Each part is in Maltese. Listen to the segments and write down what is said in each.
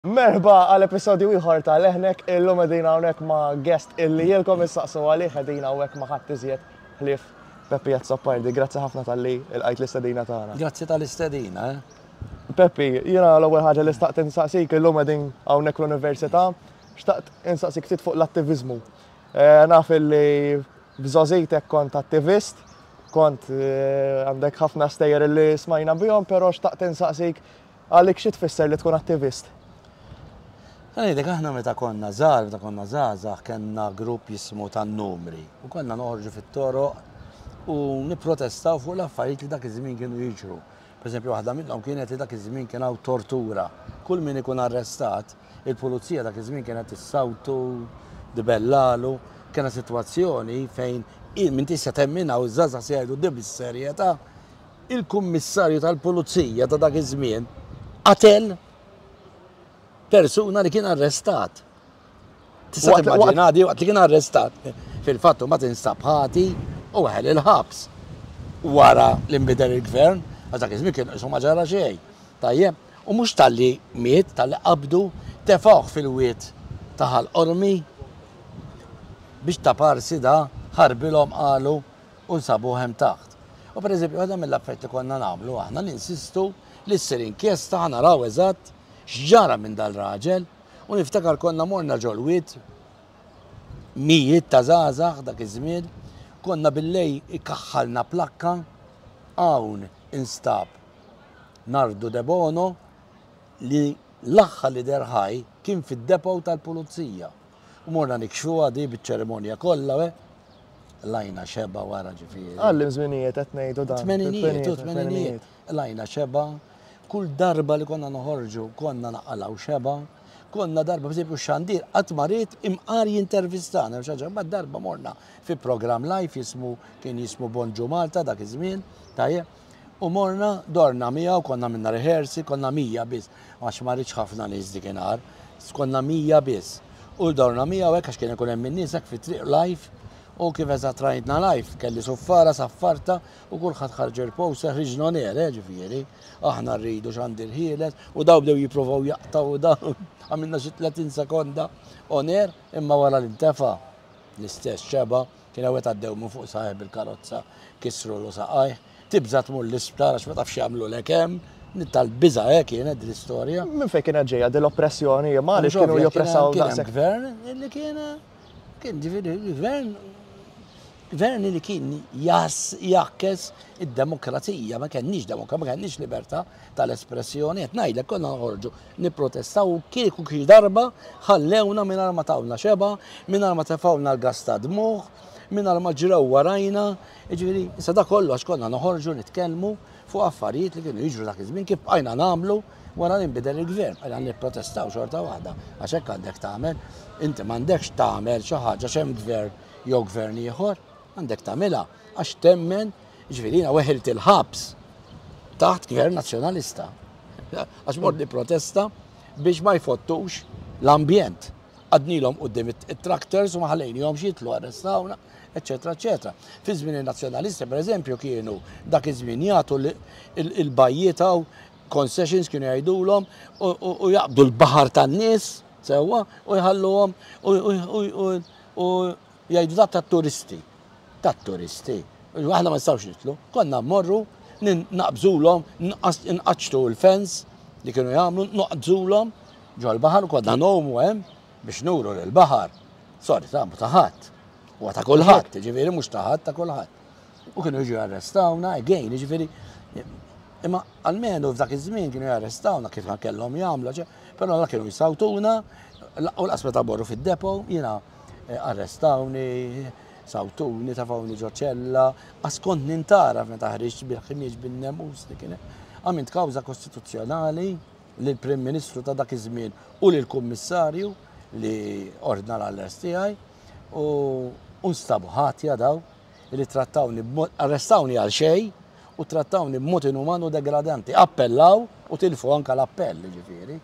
Merħba għal episodju ieħor ta' Leħnek, illum qegħdin hawnhekk ma' guest illi ilkom issaqsu għalih qegħdin hawnhekk ma' ħadd iżjed ħlief Peppi Azzopardi. Grazzi ħafna talli lqajt l-istedina tagħna. Grazzi tal-istedina, eh. Peppi, jiena l-ewwel ħaġa li staqt insaqsik illum qegħdin hawnhekk l-università, xtaqt insaqsik ftit fuq l-attiviżmu. Eh, naf illi b'żgħożitek kont attivist, kont eh, għandek ħafna stejjer illi smajna bihom, però xtaqt insaqsik Għalik xi tfisser li tkun attivist? Ħa ngħidlek aħna meta konna żgħar, meta konna żgħażagħ kellna grupp jismu tan-numri u konna noħorġu fit-toroq u nipprotestaw fuq l-affarijiet li dak iż-żmien kienu jiġru. Pereżempju waħda minnhom kienet li dak iż-żmien kien hawn tortura. Kull min ikun arrestat, il-pulizija dak iż-żmien kienet issawtu, dibellalu. Kellna sitwazzjoni fejn m'intix se temminha u ż-żgħażagħ se jgħidu di bis-serjetà Il-Kummissarju tal-Pulizija ta' dak iż-żmien qatel persuna li kien arrestat. Tista' timmaġina di waqt li kien arrestat. Fil-fatt ma tinstab ħati u weħel il-ħabs. Wara li nbidel il-gvern, għax dak iż-żmien kien qisu ma ġara xejn. Tajjeb, u mhux talli miet, talli qabdu, tefgħuh fil-wied ta' Ħal Qormi biex ta' parsi da ħarbilhom qalu u nsabuh hemm taħt. U pereżempju waħda mill-affarijiet li konna nagħmlu aħna ninsistu li ssir inkjesta ħa naraw eżatt x'ġara minn dal-raġel u niftakar konna morna ġol-wied mijiet ta' żgħażagħ dak iż-żmien, konna billej ikaħħalna plakka hawn instab Nardu Debono li l-aħħar li deher ħaj kien fid-depot tal-pulizija. U morna nikxfuha di biċ-ċerimonja kollha, eh. Lajna xeba wara ġifieri. Għal żminijiet qed ngħidu dan. Tmeninijiet, u tmeninijiet. Lajna xeba. Kull darba li konna noħorġu konna naqalgħu xeba. Konna darba, per xandir, qatt ma ried imqar jintervistana, xi ħaġa, ma darba morna fi programm live jismu kien jismu Bonġu Malta dak iż-żmien, tajjeb. U morna, dorna miegħu, konna minna rehearsi, konna 100 biss, għax ma rridx ħafna nies dikinhar, konna 100 biss. U dorna miegħu hekk għax kien ikun hemm in-nies hekk fit-triq live, u kif eżatt rajtna live, kelli suffara, saffarta, u kulħadd ħarġ il-poster, ħriġna on air, eh, ġifieri, aħna rridu xandir ħieles, u daw bdew jipprovaw jaqtgħu u daw, għamilna xi 30 sekonda on air, imma wara li ntefa' l-istess xeba', Kien hawn wieħed għaddew minn fuq saqajh bil-karozza, kissrulu saqajh. Tibża' tmur l-isptar għax ma tafx x'jagħmlulek hemm. Tal-biża' eh kienet din l-istorja. Minn fejn kienet ġejja din l-oppressjoni? Imma għaliex kienu joppressaw daqshekk? Kien hemm gvern li kien kien ġifieri gvern gvern li kien jas jakkes id-demokrazija, ma kenniex demokrazija, ma kenniex libertà tal-espressjoni, qed ngħidlek konna noħorġu nipprotestaw u kieku xi darba ħallewna mingħajr ma tawna xebgħa, mingħajr ma tefgħulna l-gass ta' dmugħ, mingħajr ma ġrew warajna. Jiġifieri, issa dak kollu għax konna noħorġu nitkellmu fuq affarijiet li kienu jiġru dak iż-żmien kif bqajna nagħmlu wara li nbidel il-gvern, bqajna nipprotestaw xorta waħda għax hekk għandek tagħmel. Inti m'għandekx tagħmel xi ħaġa għax hemm gvern jew gvern ieħor, għandek tagħmilha għax temmen, jiġifieri jiena weħilt il-ħabs taħt gvern nazzjonalista. Għax mort nipprotesta biex ma jfottux l-ambjent. Għadnilhom quddiem it-tractors u ma ħallejnihomx jitlu arrestawna, eċetera, eċetera. Fi żmien in-nazzjonalisti, pereżempju, kienu dak iż-żmien jagħtu il-bajjiet hawn concessions kienu jgħidulhom u jaqbdu l-baħar tan-nies sewwa u jħalluhom u jgħidu dak tat-turisti. Tat-turisti. Aħna ma nistgħux nidħlu. Konna mmorru naqbżulhom, nqaċċtu l-fence li kienu jagħmlu, noqgħdżulhom ġol-baħar u konna ngħumu hemm biex nuru li l-baħar, sorry, ta' ta' ħadd. Huwa ta' kulħadd, jiġifieri mhux ta' ħadd ta' kulħadd. U kienu jiġu jarrestawna, again, jiġifieri imma almenu f'dak iż-żmien kienu jarrestawna kif kellhom jagħmlu, però la kienu jsawtuna u laqas meta morru fid-depo, jiena eh, arrestawni, sawtuni, tafawni ġo ċella, għas kont nintaraf meta ħriġt bil-ħmieġ bin-nemus li kien. Għamilt kawża kostituzzjonali lill-Prim Ministru ta' dak iż-żmien u lill-Kummissarju li ordna l-arrest tiegħi u nstabu ħatja daw li trattawni arrestawni għal xejn u trattawni b'mod inuman u degradanti. Appellaw u tilfu anka l-appell, ġifieri.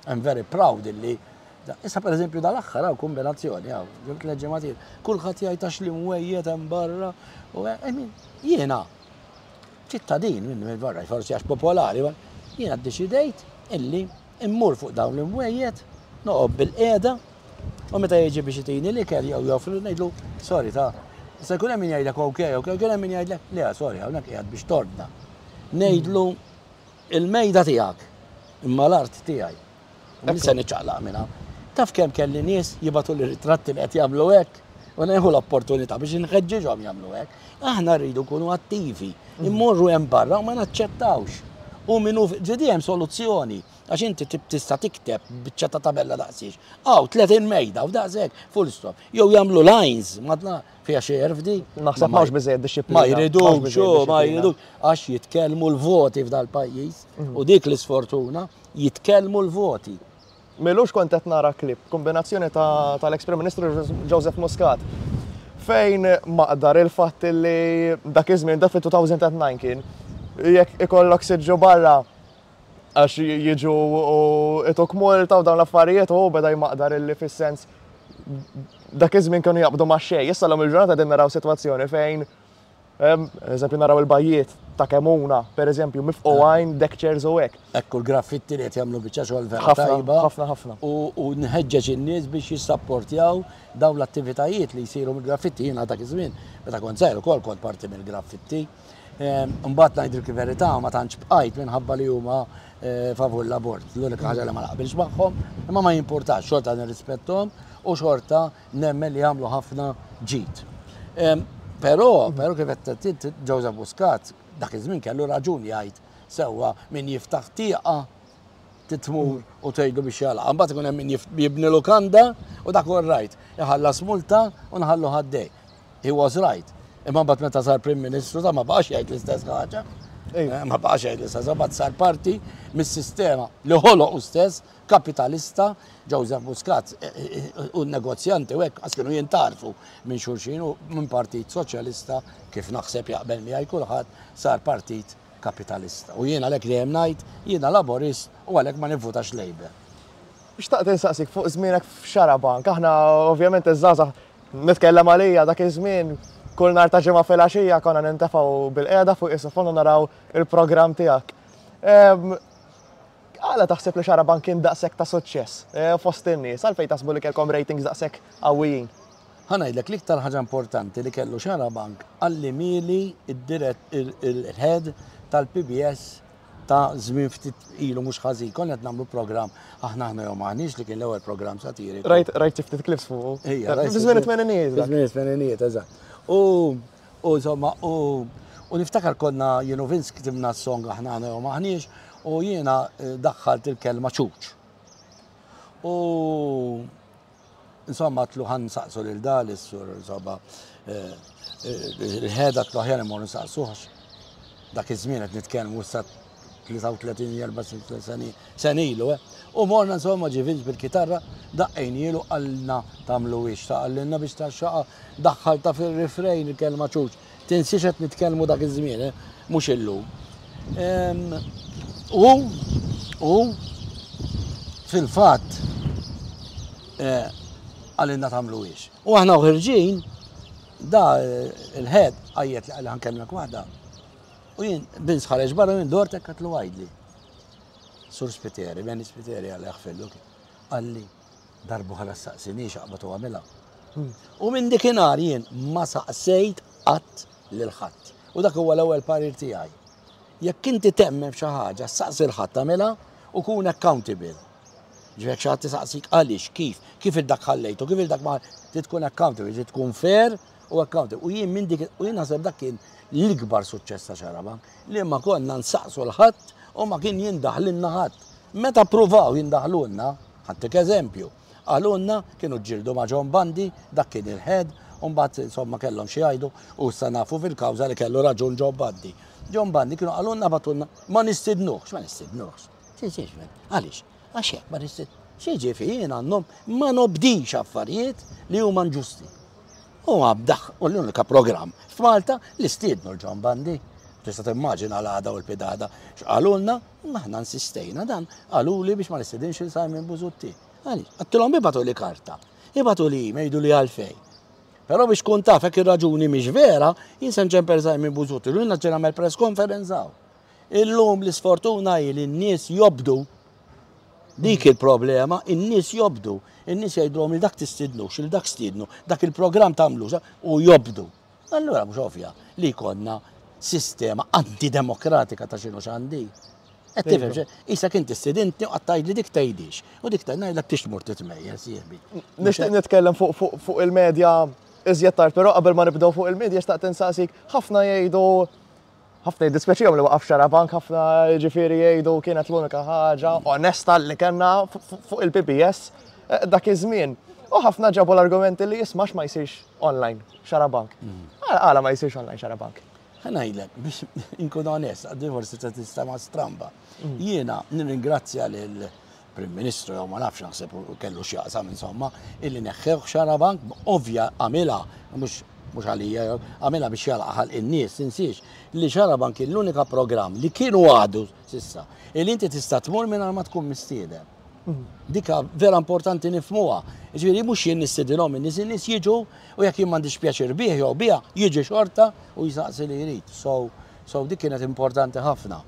I'm very proud illi Issa per eżempju dal-aħħar hawn kombinazzjoni hawn, ġew tliet ġimgħat ilu, kulħadd jgħid għax l-imwejjed hemm barra u I mean, jiena ċittadin minn barra, forsi għax popolari, jiena ddeċidejt illi Immur fuq dawn l-imwejjed, noqgħod bilqiegħda, u meta jiġi biex itini l-ikel jew joffri ngħidlu, sorry ta' se jkun hemm min jgħidlek ok, ok, jkun hemm min jgħidlek le, sorry, hawnhekk qiegħed biex tordna. Ngħidlu il-mejda tiegħek, imma l-art tiegħi. U min se niċċaqlaq minn hawn. Taf kemm kelli nies jibgħatuli ritratti li qed jagħmlu hekk u nieħu l-opportunità biex inħeġġiġhom jagħmlu hekk. Aħna rridu nkunu attivi, immorru hemm barra u ma naċċettawx. U minnu ġiedi hemm soluzzjoni għax inti tista' tikteb biċċa ta' tabella daqsiex. Aw 30 mejda u daqshekk, full stop. Jew jagħmlu lines, madna fiha xi erfdi. Naħseb m'hawnx biżejjed dixxiplina. Ma jridux, ma jridux għax jitkellmu l-voti f'dal-pajjiż u dik l-isfortuna jitkellmu l-voti. M'ilux kont qed nara clip, kombinazzjoni tal-eks Prim Ministru Joseph Muscat, fejn maqdar il-fatt li dak iż-żmien, dak fit-2009 kien, jekk ikollok siġġu barra għax jiġu u ituk multa u dawn l-affarijiet u beda jmaqdar illi fis-sens dak iż-żmien kienu jaqbdu ma' xejn. Issa l-lum il-ġurnata qegħdin naraw sitwazzjoni fejn Eżempju naraw il-bajjiet ta' Kemuna, per eżempju, mifqugħin deck chairs u hekk. Ekku l-graffitti li qed jagħmlu biċċa xogħol vera tajba. Ħafna, ħafna. U nħeġġeġ in-nies biex jissapportjaw dawn l-attivitajiet li jsiru mill-graffitti. Jiena dak iż-żmien, meta kont żgħir ukoll kont parti mill-graffitti. Imbagħad ngħidilk il-verità ma tantx bqajt minħabba li huma favur l-abort. L-unika ħaġa li ma naqbilx magħhom, imma ma jimpurtax, xorta nirrispetthom u xorta nemmen li jagħmlu ħafna ġid. Però, però kif qed tgħid Joseph Muscat dak iż-żmien kellu raġun jgħid sewwa min jiftaħ tieqa titmur u tgħidlu biex jagħlaq. Mbagħad ikun hemm min jibni lukanda u dak all right, iħallas multa u nħallu ħaddej. He was right. Imma mbagħad meta sar Prim Ministru ta' ma baqax jgħid l-istess ħaġa. Eh, ma baqax jgħid l-istess ħaġa, mbagħad sar parti mis-sistema li ħoloq hu stess kapitalista, Joseph Muscat u n-negozjanti u hekk qas kienu jintarfu minn xulxin u minn partit soċjalista kif naħseb jaqbel miegħi kulħadd sar partit kapitalista. U jien għalhekk dejjem ngħid jiena Laburist u għalhekk ma nivvutax Labour. Xtaqt insaqsik fuq żmienek f'Xarabank. Aħna ovvjament iż-żgħażagħ nitkellem għalija dak iż-żmien kull nhar ta' ġimgħa filgħaxija konna nintefgħu bilqiegħda fuq is-sofon u naraw il-programm tiegħek. Għala taħseb li Xarabank kien daqshekk ta' suċċess eh, fost in-nies? Għalfejn taħsbu li kellkom ratings daqshekk qawwijin? Ħa ngħidlek l-iktar ħaġa importanti li kellu Xarabank qalli mieli il-head tal-PBS ta' żmien ftit ilu mhux ħażin. Konna qed nagħmlu programm aħna aħna jew maħniex li kien l-ewwel programm satiriku. Rajt rajt ftit clips fuq. Ejja, rajt. Fi żmien it-tmeninijiet. Fi żmien it-tmeninijiet, eżatt. U U insomma, u u niftakar konna jien u Vince ktibna s-song aħna aħna jew maħniex u jiena eh, daħħalt il-kelma ċuċ. U insomma tlu ħan saqsu lil dal is-sur insomma eh, eh, il-ħeda tlu aħjar imorru nsaqsuh dak iż-żmien qed nitkellmu issa 33 sena ilu, eh. U morna insomma ġie Vince bil-kitarra, daqqejnielu qalilna tagħmluhiex, ta' qalilna biex tgħaxxaqha, daħħaltha fir-refrain il-kelma ċuċ. Tinsiex qed nitkellmu dak iż-żmien, eh, mhux illum. U, u fil-fatt eh, qalilna tagħmluhiex. U aħna uħirġin, da eh, il-head għajjet li qalli ħankellmek waħda. U jien, Vince ħareġ barra minn dort hekk għatlu għajdli. Sur Spiteri, Benny Spiteri għalli jaħfillu kien. Qalli, darbu ħala saqsinix aqbad u għamilha. Hmm. U minn dikinhar jien ma saqsejt qatt lil ħadd. U dak huwa l-ewwel parir tiegħi. Jekk inti temmen f'xi ħaġa, saqsi l-ħadd tagħmilha u kun accountable. Ġifieri xi ħadd isaqsik għaliex, kif, kif il-dak ħallejtu, kif il-dak ma trid tkun accountable, trid tkun fair u accountable. U jien minn dik u jien naħseb dak kien l-ikbar suċċess ta' Xarabank, li ma konna nsaqsu l-ħadd u ma kien jindaħlilna ħadd. Meta ppruvaw jindaħlulna, ħa ntik eżempju, qalulna kienu ġġieldu ma' John Bundy, dak kien il-head, u mbagħad insomma kellhom xi jgħidu u issa nafu fil-kawża li kellu raġun John Bundy. John Bundy kienu qalulna bagħtulna ma nistidnuhx, ma nistidnuhx. Għaliex? Għax hekk ma nistid. X'jiġifieri jien għandhom ma nobdix affarijiet li huma inġusti. U għabdaħ, u l-unika programm f'Malta li stiednu l-John Bundy. Tista' timmaġina l-għada u l-pidgħada x'qalulna, imma aħna insistejna dan, qaluli biex ma nistedinx lil Simon Busuttil. Għaliex? Għedtilhom ibagħtuli karta, ibagħtuli email jgħiduli għalfejn. Però biex tkun taf jekk ir-raġuni mhix vera, jien se nċempel Simon Busuttil u jien ġej nagħmel press conference hawn. Illum l-isfortuna hi li n-nies jobdu. Dik il-problema, in-nies jobdu. In-nies jgħidulhom li dak tistidnux, il dak stidnu, dak il-programm tagħmlux u jobdu. Allura mhux ovvja li jkollna sistema antidemokratika ta' x'inhu x'għandi. Qed tifhem xi? Isek inti stidintni u qed li dik tgħidix. U dik tgħid ngħidlek tix tmur titmejjel sieħbi. Nixtieq nitkellem fuq il-medja iżjed tard, però qabel ma nibdew fuq il-medja xtaqt insaqsik, ħafna jgħidu ħafna jiddispjaċihom li waqaf Xarabank, ħafna ġifieri jgħidu kienet l-unika ħaġa onesta li kellna fuq il-PBS eh, dak iż-żmien. U ħafna ġabu l-argumenti li jismax ma jsirx online Xarabank. Mm. Għala ma jsirx online Xarabank. Ħa ngħidlek, biex inkun onest, għaddi forsi ta' tistama stramba. Mm. Jiena nirringrazzja lil Prim Ministru jew ma nafx naħseb kellu x'jaqsam insomma, illi neħħew Xarabank, ovvja għamilha, mhux mhux għalija, għamilha biex jalaq ħalq in-nies, tinsiex li Xarabank kien l-unika programm li kienu għadu sissa, illi inti tista' tmur mingħajr ma tkun mistieden. Mm. Dika vera importanti nifmuha. Ġifieri mhux jien nistidilhom in-nies, in-nies jiġu u jekk jien m'għandix pjaċir bih jew biha, jiġi xorta u jisaqsi li jrid. So, so dik kienet importanti ħafna.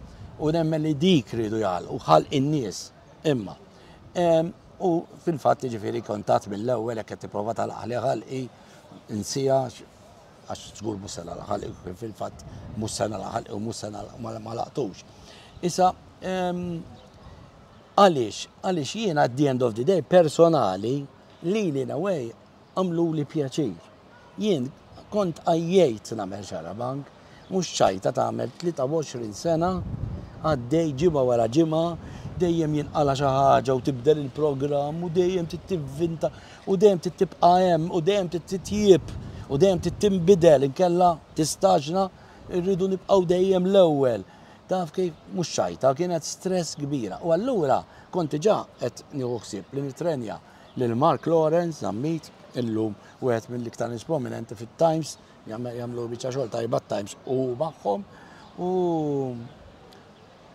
U nemmen li dik ridu jagħlqu ħalq in-nies. Imma. U fil-fatt ġifieri kontat mill-ewwel jekk qed tipprova tagħlaq ħalqi insija għax żgur mhux se nagħlaq ħalqi fil-fatt mhux se nagħlaq ħalqi u mhux se ma laqtux. Issa għaliex? Għaliex jiena at the end of the day personali li li in a way għamluli pjaċir. Jien kont għajjejt nagħmel Xarabank, mhux ċajta tagħmel 23 sena għaddej ġimgħa wara ġimgħa, dejjem jinqala' xi ħaġa u tibdel il-programm u dejjem trid tivvinta u dejjem trid tibqa' hemm u dejjem trid titjieb u dejjem trid tinbidel inkella tistaġna rridu nibqgħu dejjem l-ewwel. Taf kif mhux ċajta, kienet stress kbira. U allura kont diġà qed nieħu ħsieb li nitrenja lil Mark Lawrence Zammit, illum wieħed mill-iktar nies prominenti fit-Times, jagħmlu biċċa xogħol tajba t-Times u magħhom. U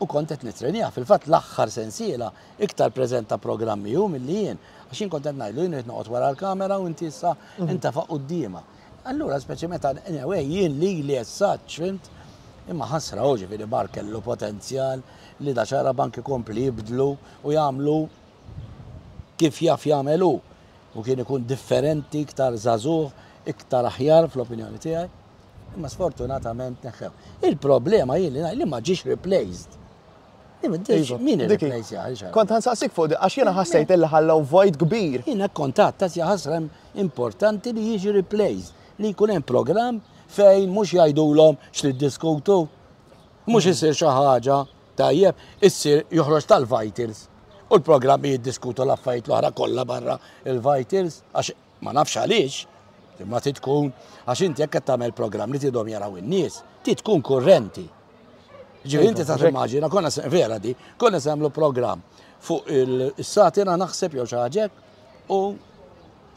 u kont qed nitrenja. Fil-fatt l-aħħar sensiela iktar preżenta programmi hu milli jien. Għax jien kont qed ngħidlu jien qed noqgħod wara l-kamera u inti issa mhm. intafa' quddiemha. Allura speċi meta anyway jien lili as such, fhimt? Imma ħasra hu ġifieri Mark kellu potenzjal li da Xarabank ikompli jibdlu u jagħmlu kif jaf jagħmel hu u kien ikun differenti, iktar żagħżugħ, iktar aħjar fl-opinjoni tiegħi. Imma sfortunatament neħħew. Il-problema hi li li ma ġiex replaced. Iva, min irreplace Kont ħansaqsik fuq għax jiena ħassejt illi ħallew vojt kbir. Jiena kontat ta' ħasra importanti li jiġi replaced, li jkun hemm programm fejn mhux jgħidulhom x'niddiskutu, mhux isir xi ħaġa Tajjeb, issir joħroġ tal-Vitals u l-programmi jiddiskutu l-affarijiet l-oħra kollha barra il-Vitals għax ma nafx għaliex, imma trid tkun għax inti jekk qed tagħmel programm li tidhom jaraw in-nies, trid tkun kurrenti. Ġifieri inti ta' timmaġina, konna vera di, konna se nagħmlu programm fuq il-satina naħseb jew xi ħaġa u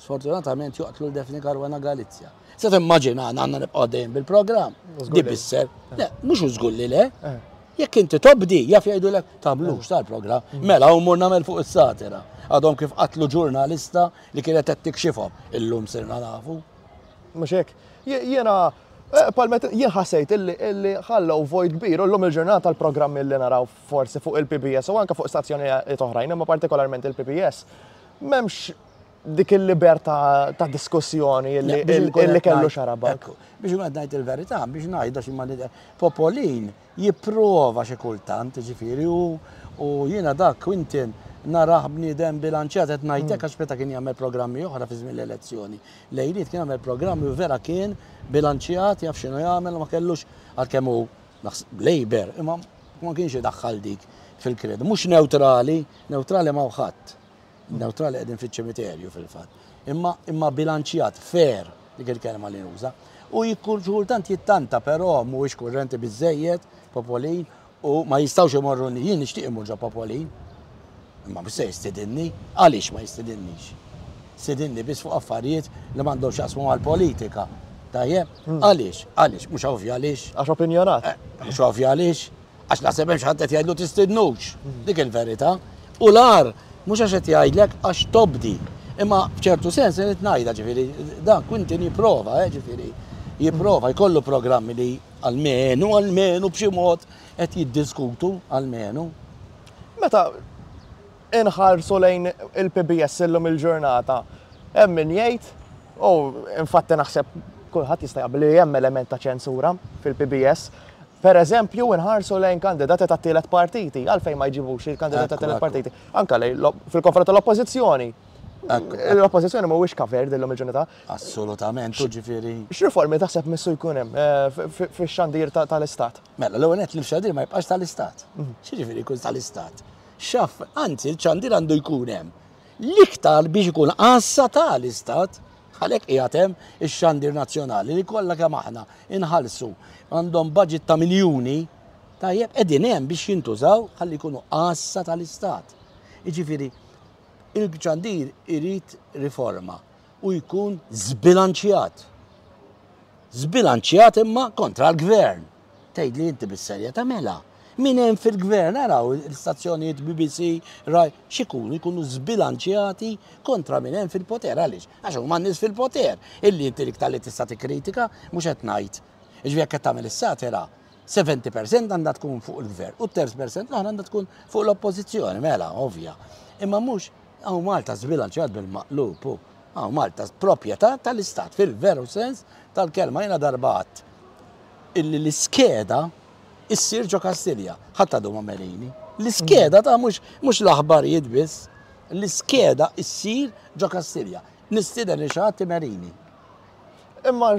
Sfortunatament joqtlu l-Daphne Caruana Galizia. Se timmaġina għandna nibqgħu dejjem bil-programm. Di bisser. Le, mhux żgur li le. Eh. Jekk inti tobdi, jaf jgħidulek tagħmlux tal-programm. Mm. Mela u mur nagħmel fuq is-satira. Għadhom kif qatlu ġurnalista li kienet qed tikxifhom. Illum sirna nafu. Mhux hekk. Jiena eh, palmet jien ħassejt illi ħallew vojt kbir u llum il-ġurnata l-programmi li naraw forsi fuq il-PBS u anke fuq stazzjonijiet oħrajn, imma partikolarment il-PBS, m'hemmx dik il-libertà ta' diskussjoni li kellu Xarabank. Biex ma ngħid il-verità, biex ngħid għax ma Popolin jipprova xi kultant, ġifieri u jiena dak Quinton narah bniedem bilanċjat qed ngħidlek mm. għax meta kien jagħmel programmi oħra fi żmien l-elezzjoni. Lejliet kien jagħmel programmi u vera kien bilanċjat jaf x'inhu jagħmel ma kellux għalkemm hu Labour, imma ma kienx idaħħal dik fil-kredu. Mhux neutrali, neutrali ma ħadd. Neutrali qegħdin fiċ-ċimiterju fil-fatt. Imma imma bilanċjat, fair, dik il-kelma li nuża. U jkun kultant jittanta però mhuwiex kurrenti biżejjed, Popolin, u ma jistgħux imorru jien nixtieq imur ġo Popolin. Imma mhux se jistidinni, għaliex ma jistidinniex? Stidinni biss fuq affarijiet li m'għandhomx jaqsmu mal-politika. Tajjeb? Hmm. Għaliex? Għaliex? Mhux ovvja għaliex. Għax opinjonat. Eh, mhux ovvja għaliex. Għax naħseb hemm xi ħadd qed jgħidlu tistidnux. Dik il-verità. U l-agħar mhux għax qed jgħidlek għax tobdi. Imma f'ċertu sens irid ngħidha ġifieri dan Quinton jipprova, eh, ġifieri jipprova jkollu programmi li almenu, almenu b'xi mod qed jiddiskutu almenu. Meta. inħarsu lejn il-PBS illum il-ġurnata, hemm min jgħid, u infatti naħseb kulħadd jista' jaqbel li hemm element ta' ċensura fil-PBS. Per eżempju, inħarsu lejn kandidati tat-tielet partiti, għalfejn ma jġibux il-kandidati tat-tielet partiti. Anka lejn fil-konfront tal-oppożizzjoni. L-oppożizzjoni mhuwiex covered illum il-ġurnata. Assolutament, u ġifieri. X'riformi taħseb missu jkun hemm eh, fix-xandir tal-Istat? Mela, l-ewwel nett li x-xandir ma jibqax tal-Istat. Mhm. X'jiġifieri jkun tal-Istat? Xaf, anzi, il-xandir għandu jkun hemm. L-iktar biex ikun għassa tal-Istat, għalhekk qiegħed hemm ix-xandir nazzjonali li kollha kemm aħna inħallsu għandhom budget ta' miljuni, tajjeb, qegħdin hemm biex jintużaw ħalli jkunu għassa tal-Istat. Jiġifieri, il-xandir irid riforma u jkun żbilanċjat. Żbilanċjat imma kontra l-gvern. Tgħidli inti bis-serjetà mela. Min hemm fil-gvern araw l-istazzjonijiet BBC, Rai, x'ikunu jkunu żbilanċjati kontra min hemm fil-poter għaliex? Għax huma n-nies fil-poter illi inti l-iktar li tista' tikkritika mhux qed ngħid. Jiġifieri jekk qed tagħmel is-satira, 70% għandha tkun fuq il-gvern u terz percent l-oħra għandha tkun fuq l-oppożizzjoni, mela, ovvja. Imma mhux hawn Malta żbilanċjat bil-maqlub hu. Hawn Malta proprjetà tal-Istat fil-veru sens tal-kelma. Jiena darba għadt illi l-iskeda issir ġo Kastilja. Ħadd għadu ma merini. L-iskeda ta' mhux mhux l-aħbarijiet biss. L-iskeda issir ġo Kastilja. Nistieden li xi ħadd imerini. Imma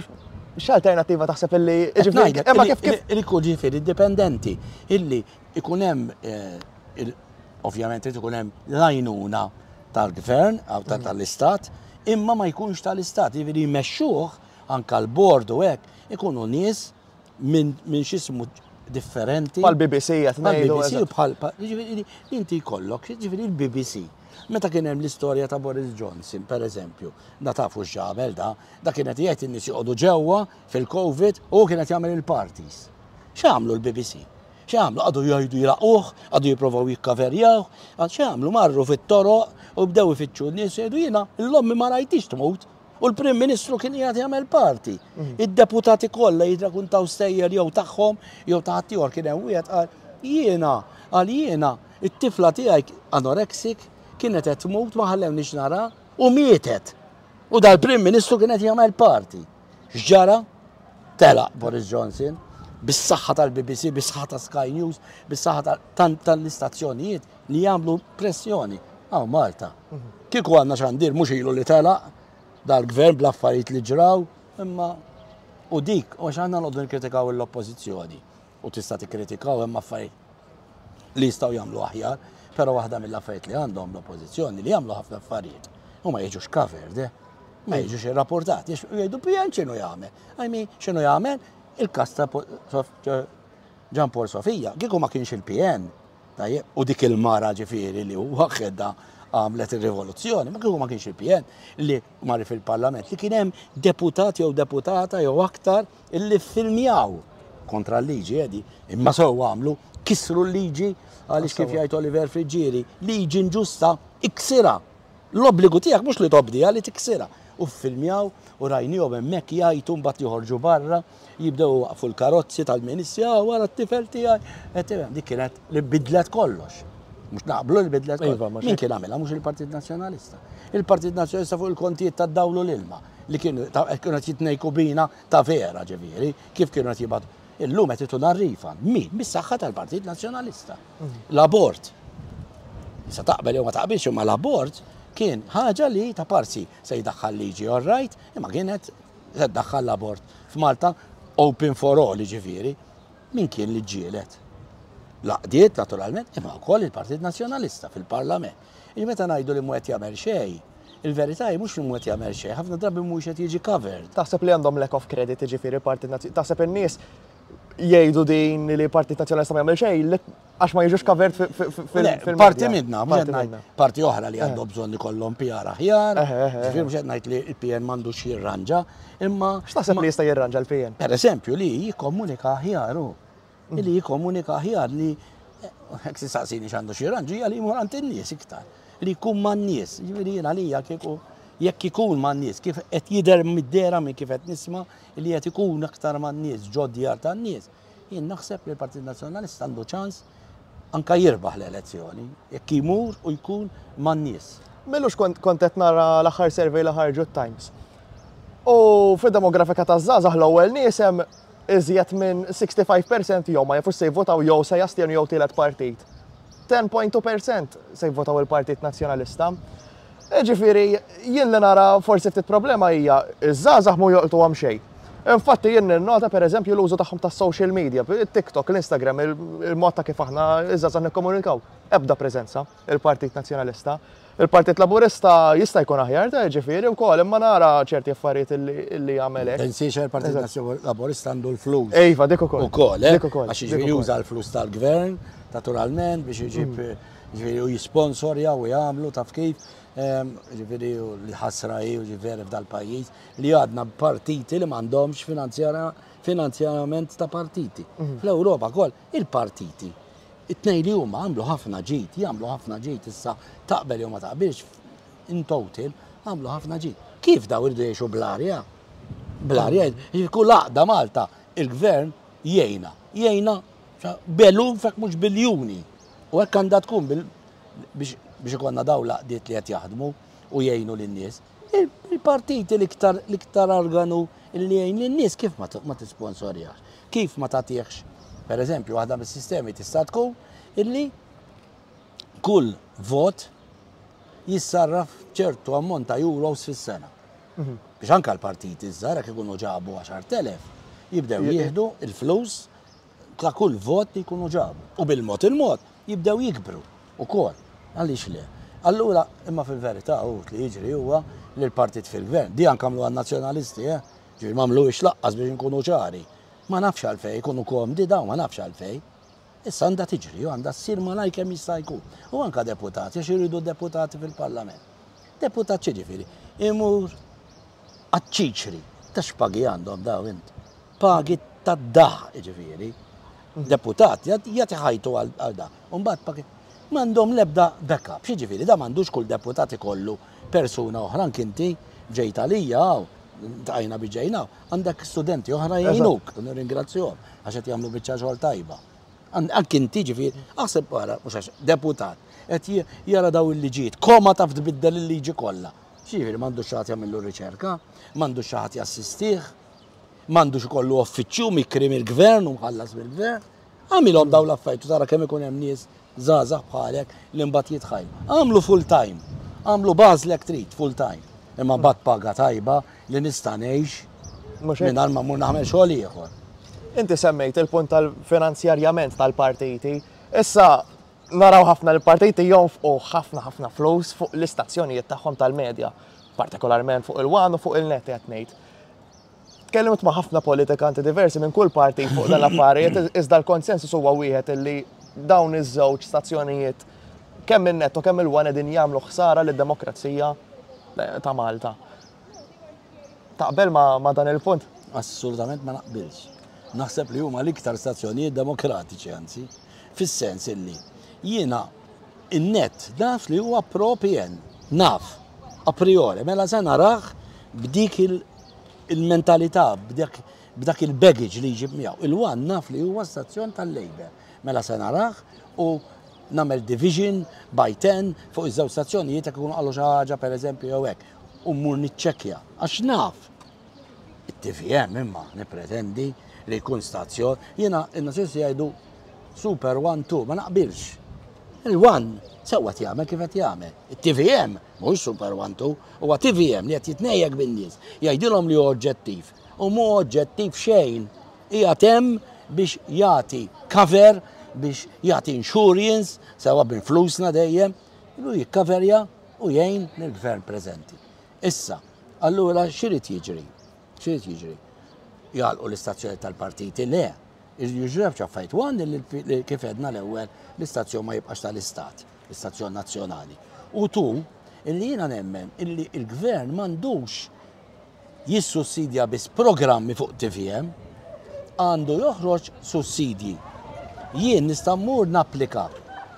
x'alternattiva taħseb illi ġifieri imma kif kif li jkun ġifieri dipendenti illi ikun hemm eh, ovvjament irid ikun hemm l-għajnuna tal-gvern aw mm. tal-istat, imma ma jkunx tal-istat, jiġifieri jmexxuh anka l-bord u hekk ikunu nies minn min x'ismu differenti. Bħal BBC qed ngħidu. BBC bħal jiġifieri inti jkollok, jiġifieri l-BBC. Meta kien hemm l-istorja ta' Boris Johnson, per eżempju, da tafu x'għamel da, da kien qed jgħid in-nies joqogħdu ġewwa fil-Covid u kien qed jagħmel il-parties. X'għamlu l-BBC? X'għamlu? Qagħdu jgħidu jilagħquh, qagħdu jipprovaw jikkaverjawh, x'għamlu? Marru fit-toroq u bdew ifittxu n-nies jgħidu jiena l-ommi ma rajtix tmut. U l-Prim Ministru kien qiegħed jagħmel parti. Mm. Id-deputati kollha jirrakuntaw stejjer jew tagħhom jew ta' ħaddieħor kien hemm wieħed qal jiena qal jiena it-tifla tiegħi anorexic kienet qed tmut ma ħallewniex nara u mietet. U dal-Prim Ministru kien qed jagħmel parti. X'ġara? Telaq Boris Johnson bis-saħħa tal-BBC, bis-saħħa ta' Sky News, bis-saħħa tal-istazzjonijiet li jagħmlu pressjoni. Hawn Malta. Kieku għandna xandir mhux ilu li telaq dal-gvern bl-affarijiet li ġraw, imma u dik, u għax aħna noqogħdu nikkritikaw l-oppożizzjoni u tista' tikkritikaw hemm affarijiet li jistgħu jagħmlu aħjar, però waħda mill-affarijiet li għandhom l-oppożizzjoni li jagħmlu ħafna affarijiet u ma jiġux covered, eh? ma jiġux irrapportati, jgħidu PN x'inhu jagħmel. I mean, x'inhu jagħmel? Il-kas ta' Ġan Paul Sofija, kieku ma kienx il-PN, tajjeb, u dik il-mara ġifieri li waħedha għamlet ir-rivoluzzjoni, ma kieku ma kienx il-PN li marri fil-Parlament, li kien hemm deputat jew deputata jew aktar illi ffilmjaw kontra l-liġi edi, imma sew għamlu, kisru l-liġi għaliex kif jgħid Oliver Friggieri, liġi inġusta iksirha. L-obbligu tiegħek mhux li tobdiha li tiksirha. U ffilmjaw u rajnihom hemmhekk jgħajtu mbagħad joħorġu barra, jibdew iwaqqfu l-karozzi tal-ministri, ah wara t-tifel tiegħi. Dik kienet li bidlet kollox. Mhux naqblu li bidlet kollox. Iva, Min kien għamilha mhux il-Partit Nazzjonalista. Il-Partit Nazzjonalista fuq il-kontijiet tad-dawl u l-ilma li kienu qed jitnejku bina ta' vera ġifieri, kif kienu qed jibgħatu. Illum qed ituna r-refund. Min? Bis-saħħa tal-Partit Nazzjonalista. L-abort. Issa taqbel jew ma taqbilx imma l-abort kien ħaġa li ta' parsi se jdaħħal liġi all right, imma kienet se ddaħħal l-abort f'Malta open for all jiġifieri. Min kien li ġġieled? L-għaqdiet naturalment, imma wkoll il-Partit Nazzjonalista fil-Parlament. Jiġifieri meta ngħidu li mhu qed jagħmel xejn, il-verità hi mhux li mhu qed jagħmel xejn, ħafna drabi mhuwiex qed jiġi covered. Taħseb li għandhom lack of credit jiġifieri l-Partit Nazzjonalista? Taħseb in-nies jgħidu din li l-Partit Nazzjonalista ma jagħmel xejn għax ma jiġux covered fil-media? Parti minna, mhux qed ngħid parti oħra li għandhom bżonn ikollhom PR aħjar, ġifieri mhux qed ngħid li l-PN m'għandux jirranġa, imma. X'taħseb li jista' jirranġa l-PN? Per eżempju li jikkomunika aħjar hu. Li jikkomunika aħjar li hekk tistaqsini x'għandu xi jirranġa hija li jmur għand in-nies iktar. Li jkun man-nies. Ġifieri jien għalija kieku jekk ikun man-nies kif qed jidher mid-dehra minn kif qed nisma' li qed ikun aktar man-nies ġod djar tan-nies. Jien naħseb li l-Partit Nazzjonalista għandu ċans. Anka jirbaħ l-elezzjoni, jekk imur u jkun man-nies. M'ilux kont kont qed nara l-aħħar survey li ħarġu t-Times. U fid-demografika taż-żgħażagħ l-ewwel nies hemm iżjed minn 65% jew ma jafux se jivvotaw jew se jastjenu jew tielet partit. 10.2% se jivvotaw il-Partit Nazzjonalista. Ġifieri, jien li nara forsi ftit problema hija iż-żgħażagħ mu joqtuhom xejn. Infatti jien ninnota pereżempju l-użu tagħhom tas-social media, TikTok, l-Instagram, il-mod ta' kif aħna iż-żgħażagħ nikkomunikaw. Ebda preżenza il-Partit Nazzjonalista. Il-Partit Laburista jista' jkun aħjar ta' ġifieri wkoll, imma nara ċerti affarijiet illi jagħmel hekk. Tinsiex il-Partit Laburista għandu l-flus. Iva, dik ukoll. Ukoll, eh? Dik ukoll. Għax jiġifieri juża l-flus tal-gvern, naturalment, biex iġib ġifieri u jisponsorja u jagħmlu taf kif. Ġifieri li ħasra hi u ġifieri f'dal-pajjiż li għadna partiti li m'għandhomx finanzjament ta' partiti. Fl-Ewropa koll il-partiti It-tnejn li huma għamlu ħafna ġid, jagħmlu ħafna ġid issa taqbel jew ma taqbilx, in total għamlu ħafna ġid. Kif daw iridu jgħixu bl-arja? Bl-arja, kull għaqda Malta, il-gvern jgħinha, jgħinha b'eluf jekk mhux biljuni. U hekk għandha tkun biex ikollna daw l-għaqdiet li qed jaħdmu u jgħinu lin-nies. Il-partiti l-iktar l-iktar organu li jgħin lin-nies kif ma tisponsorjax? Kif ma tagħtihx? Per eżempju, waħda mis-sistemi tista' tkun illi kull vot jissarraf ċertu ammont ta' euros fis-sena. Biex anka l-partiti żgħar jekk ikunu ġabu 10,000 jibdew jieħdu il-flus ta' kull vot li jkunu ġabu. U bil-mod il-mod jibdew jikbru ukoll. Għaliex le? Allura, imma fil-verità hu li jiġri huwa li l-partit fil-gvern, di anke għamlu għan-nazzjonalisti, eh? Ġifieri m'għamluhiex laqqas biex inkunu ċari. Ma nafx għalfejn, ikunu komdi dawn, ma nafx għalfejn. Issa għandha tiġri u għandha ssir malajr kemm jista' jkun. U anke deputati, għax iridu deputati fil-Parlament. Deputat x'jiġifieri? Imur għaċ-ċiċri. Ta' x'pagi għandhom dawn int? Pagi tad-daħq jiġifieri. Deputat jagħti ħajtu għal da. U mbagħad pagi m'għandhom l-ebda backup. X'jiġifieri? Da m'għandux kull deputat ikollu persuna oħra anki inti ġejt għalija hawn, ntqajna biex ġejna hawn, għandek studenti oħra jgħinuk, u nirringrazzjahom għax qed jagħmlu biċċa xogħol tajba. Anki inti ġifieri, aħseb wara, mhux għax deputat, qed jara daw il-liġijiet, koma taf tbiddel il-liġi kollha. Ġifieri m'għandux xi ħadd jagħmillu riċerka, m'għandux xi ħadd jassistih, m'għandux ikollu uffiċċju mikri mill-gvern u mħallas mill-gvern. Għamilhom dawn l-affarijiet u tara kemm ikun hemm nies żgħażagħ bħalek li mbagħad jitħajru. Għamlu full time, għamlu b'għażlek trid full time, imma mbagħad paga tajba li nista' ngħix mingħajr ma mmur nagħmel xogħol ieħor. Inti semmejt il-punt tal-finanzjarjament tal-partiti. Issa naraw ħafna li partiti jonfqu ħafna ħafna flus fuq l-istazzjonijiet tagħhom tal-medja, partikolarment fuq il-One u fuq il-Net qed ngħid. Tkellimt ma' ħafna politikanti diversi minn kull partit fuq dan l-affarijiet, iżda l-konsensus huwa wieħed illi dawn iż-żewġ stazzjonijiet kemm in-Net u kemm il-One qegħdin jagħmlu ħsara lid-demokrazija eh, ta' Malta. Taqbel ma', ma dan il-punt? Assolutament ma naqbilx. Naħseb li huma l-iktar stazzjonijiet demokratiċi anzi, fis-sens illi jiena in-Net naf li huwa pro PN, naf, a priori, mela se narah b'dik il- il-mentalità b'dak il-baggage li jġib miegħu. Il-One naf li huwa stazzjon tal-Labour. Mela se narah u nagħmel division by 10 fuq iż-żewġ stazzjonijiet jekk ikunu qalu xi ħaġa pereżempju jew hekk. U mmur niċċekkja għax naf. It-TVM imma nippretendi li jkun stazzjon. Jiena in-Nazzjonisti jgħidu Super One Two, ma naqbilx. Il-One sewwa qed jagħmel kif qed jagħmel. It-TVM Mhux Super One Two, huwa TVM li qed jitnejjek bin-nies, jgħidilhom li hu oġġettiv. U mhu oġġettiv xejn. Qiegħed hemm biex jagħti cover, biex jagħti insurance, sewwa minn flusna dejjem, u jikkaverja u jgħin lill-gvern preżenti. Issa, allura x'irid jiġri? X'irid jiġri? Jagħlqu l-istazzjoni tal-partiti? Le. Jiġri żewġ affarijiet. One, li kif għedna l-ewwel, l-istazzjon ma jibqax tal-istat. l-istazzjon nazzjonali. U tu, illi jiena nemmen illi l-gvern m'għandux jissussidja biss programmi fuq TVM, għandu joħroġ sussidji. Jien nista' mmur napplika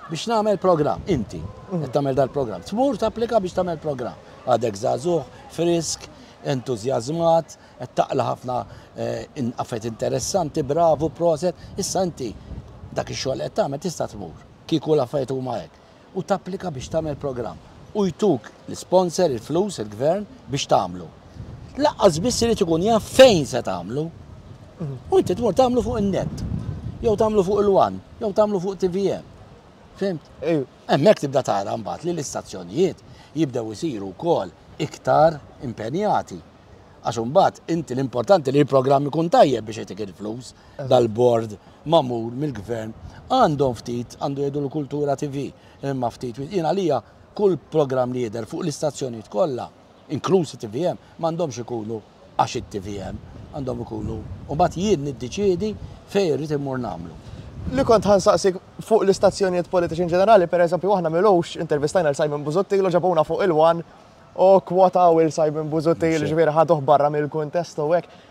biex nagħmel programm, inti qed tagħmel dal-programm, tmur tapplika biex tagħmel programm. Għadek żagħżugħ, frisk, entużjażmat, qed taqla' ħafna eh, affarijiet interessanti, bravu, proset, issa inti dak ix-xogħol qed tagħmel tista' tmur. Kieku l-affarijiet huma hekk. U tapplika biex tagħmel programm. U jtuk l-isponsor, il-flus, il-gvern biex tagħmlu. Lanqas biss irid ikun jaf fejn se tagħmlu. U inti tmur tagħmlu fuq in-net. Jew tagħmlu fuq il-One, jew tagħmlu fuq TVM. Fhimt? Hemmhekk tibda tara mbagħad li l-istazzjonijiet jibdew isiru wkoll iktar impenjati. Għax imbagħad inti l-importanti li l-programm ikun tajjeb biex jagħtik il-flus dal-bord magħmul mill-gvern. Għandhom ftit, għandu jgħidu l-Kultura TV, imma ftit, jien għalija kull programm li jidher fuq l-istazzjonijiet kollha, inkluż it-TVM, m'għandhomx ikunu għax it-TVM, għandhom ikunu, u mbagħad jien niddeċiedi fejn irrid immur nagħmlu. Li kont ħa nsaqsik fuq l-istazzjonijiet politiċi in ġenerali, per eżempju, aħna m'ilux intervistajna l Simon Busuttil u ġabuna fuq il-One u kwotaw il Simon Busuttil, ġifieri ħaduh barra mill-kuntest u hekk.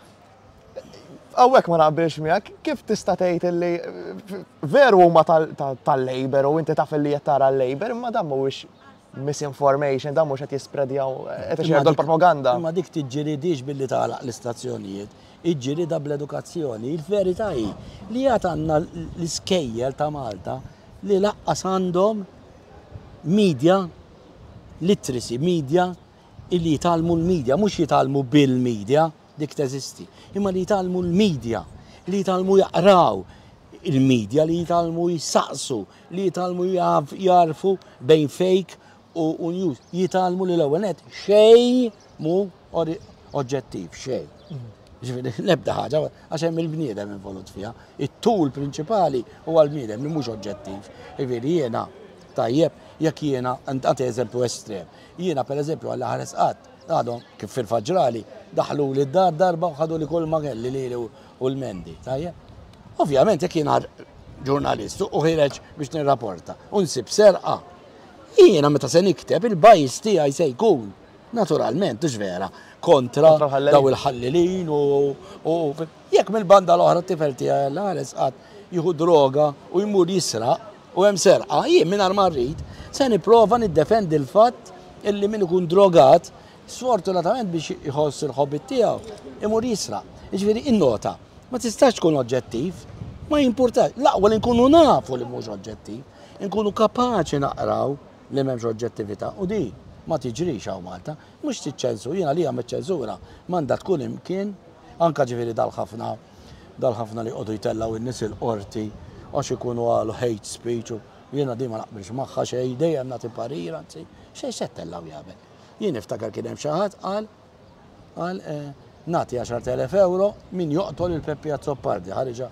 Hawnhekk ma naqbilx miegħek, kif tista' tgħid illi veru huma tal-Labour u inti taf illi qed tara l-Labour, imma dan mhuwiex misinformation, dan mhux qed jispredjaw, qed ixerdu l-propaganda. Imma dik tiġġilidix billi tagħlaq l-istazzjonijiet, iġġilidha bl-edukazzjoni. Il-verità hi li għad għandna l-iskejjel ta' Malta li lanqas għandhom media literacy, media illi jitgħallmu l-media, mhux jitgħallmu bil-media, dik teżisti, imma li jitgħallmu l-media, li jitgħallmu jaqraw il-media, li jitgħallmu jisaqsu, li jitgħallmu jarfu bejn fake u news, jitgħallmu li l-ewwel net xejn mhu oġġettiv, xejn. Ġifieri l-ebda ħaġa, għax hemm il-bniedem involut fiha. It-tool prinċipali huwa l-bniedem li mhux oġġettiv. Ġifieri jiena tajjeb, jekk jiena, għandi eżempju estrem, jiena per eżempju għalla ħares qatt, għadhom kif fil-faġrali, daħlu li d-dar darba u ħadu li kull ma kelli li u l-mendi, tajjeb. Ovvjament jekk jiena ġurnalist u ħireġ biex nirrapporta u nsib serqa, jiena meta se nikteb il-bias tiegħi se jkun naturalment, mhux vera, kontra daw il-ħallelin u jekk mill-banda l-oħra t-tifel tiegħi għalla ħares qatt jieħu droga u jmur jisraq u hemm serqa, jien mingħajr ma rrid se nipprova niddefendi l-fatt illi min ikun drogat sfortunatament biex iħoss il-ħobit tiegħu imur jisraq. Jiġifieri innota, ma tistax tkun oġġettiv, ma jimpurtax, l-aqwa li nkunu nafu li mhux oġġettiv, nkunu kapaċi naqraw li m'hemmx oġġettività u di ma tiġrix hawn Malta, mhux tiċċensu, jiena li hemm ċensura m'għandha tkun imkien, anka ġifieri dal-ħafna dal-ħafna li jqogħdu jtellgħu in-nies il-qorti għax ikunu għalu hate speech u jiena di ma naqbilx magħha xejn, dejjem nagħti parir, anzi, xejn se ttellgħu jagħmel. Jien niftakar kien hemm xi ħadd qal qal nagħti 10,000 euro min joqtol il-Peppi Azzopardi, ħariġa.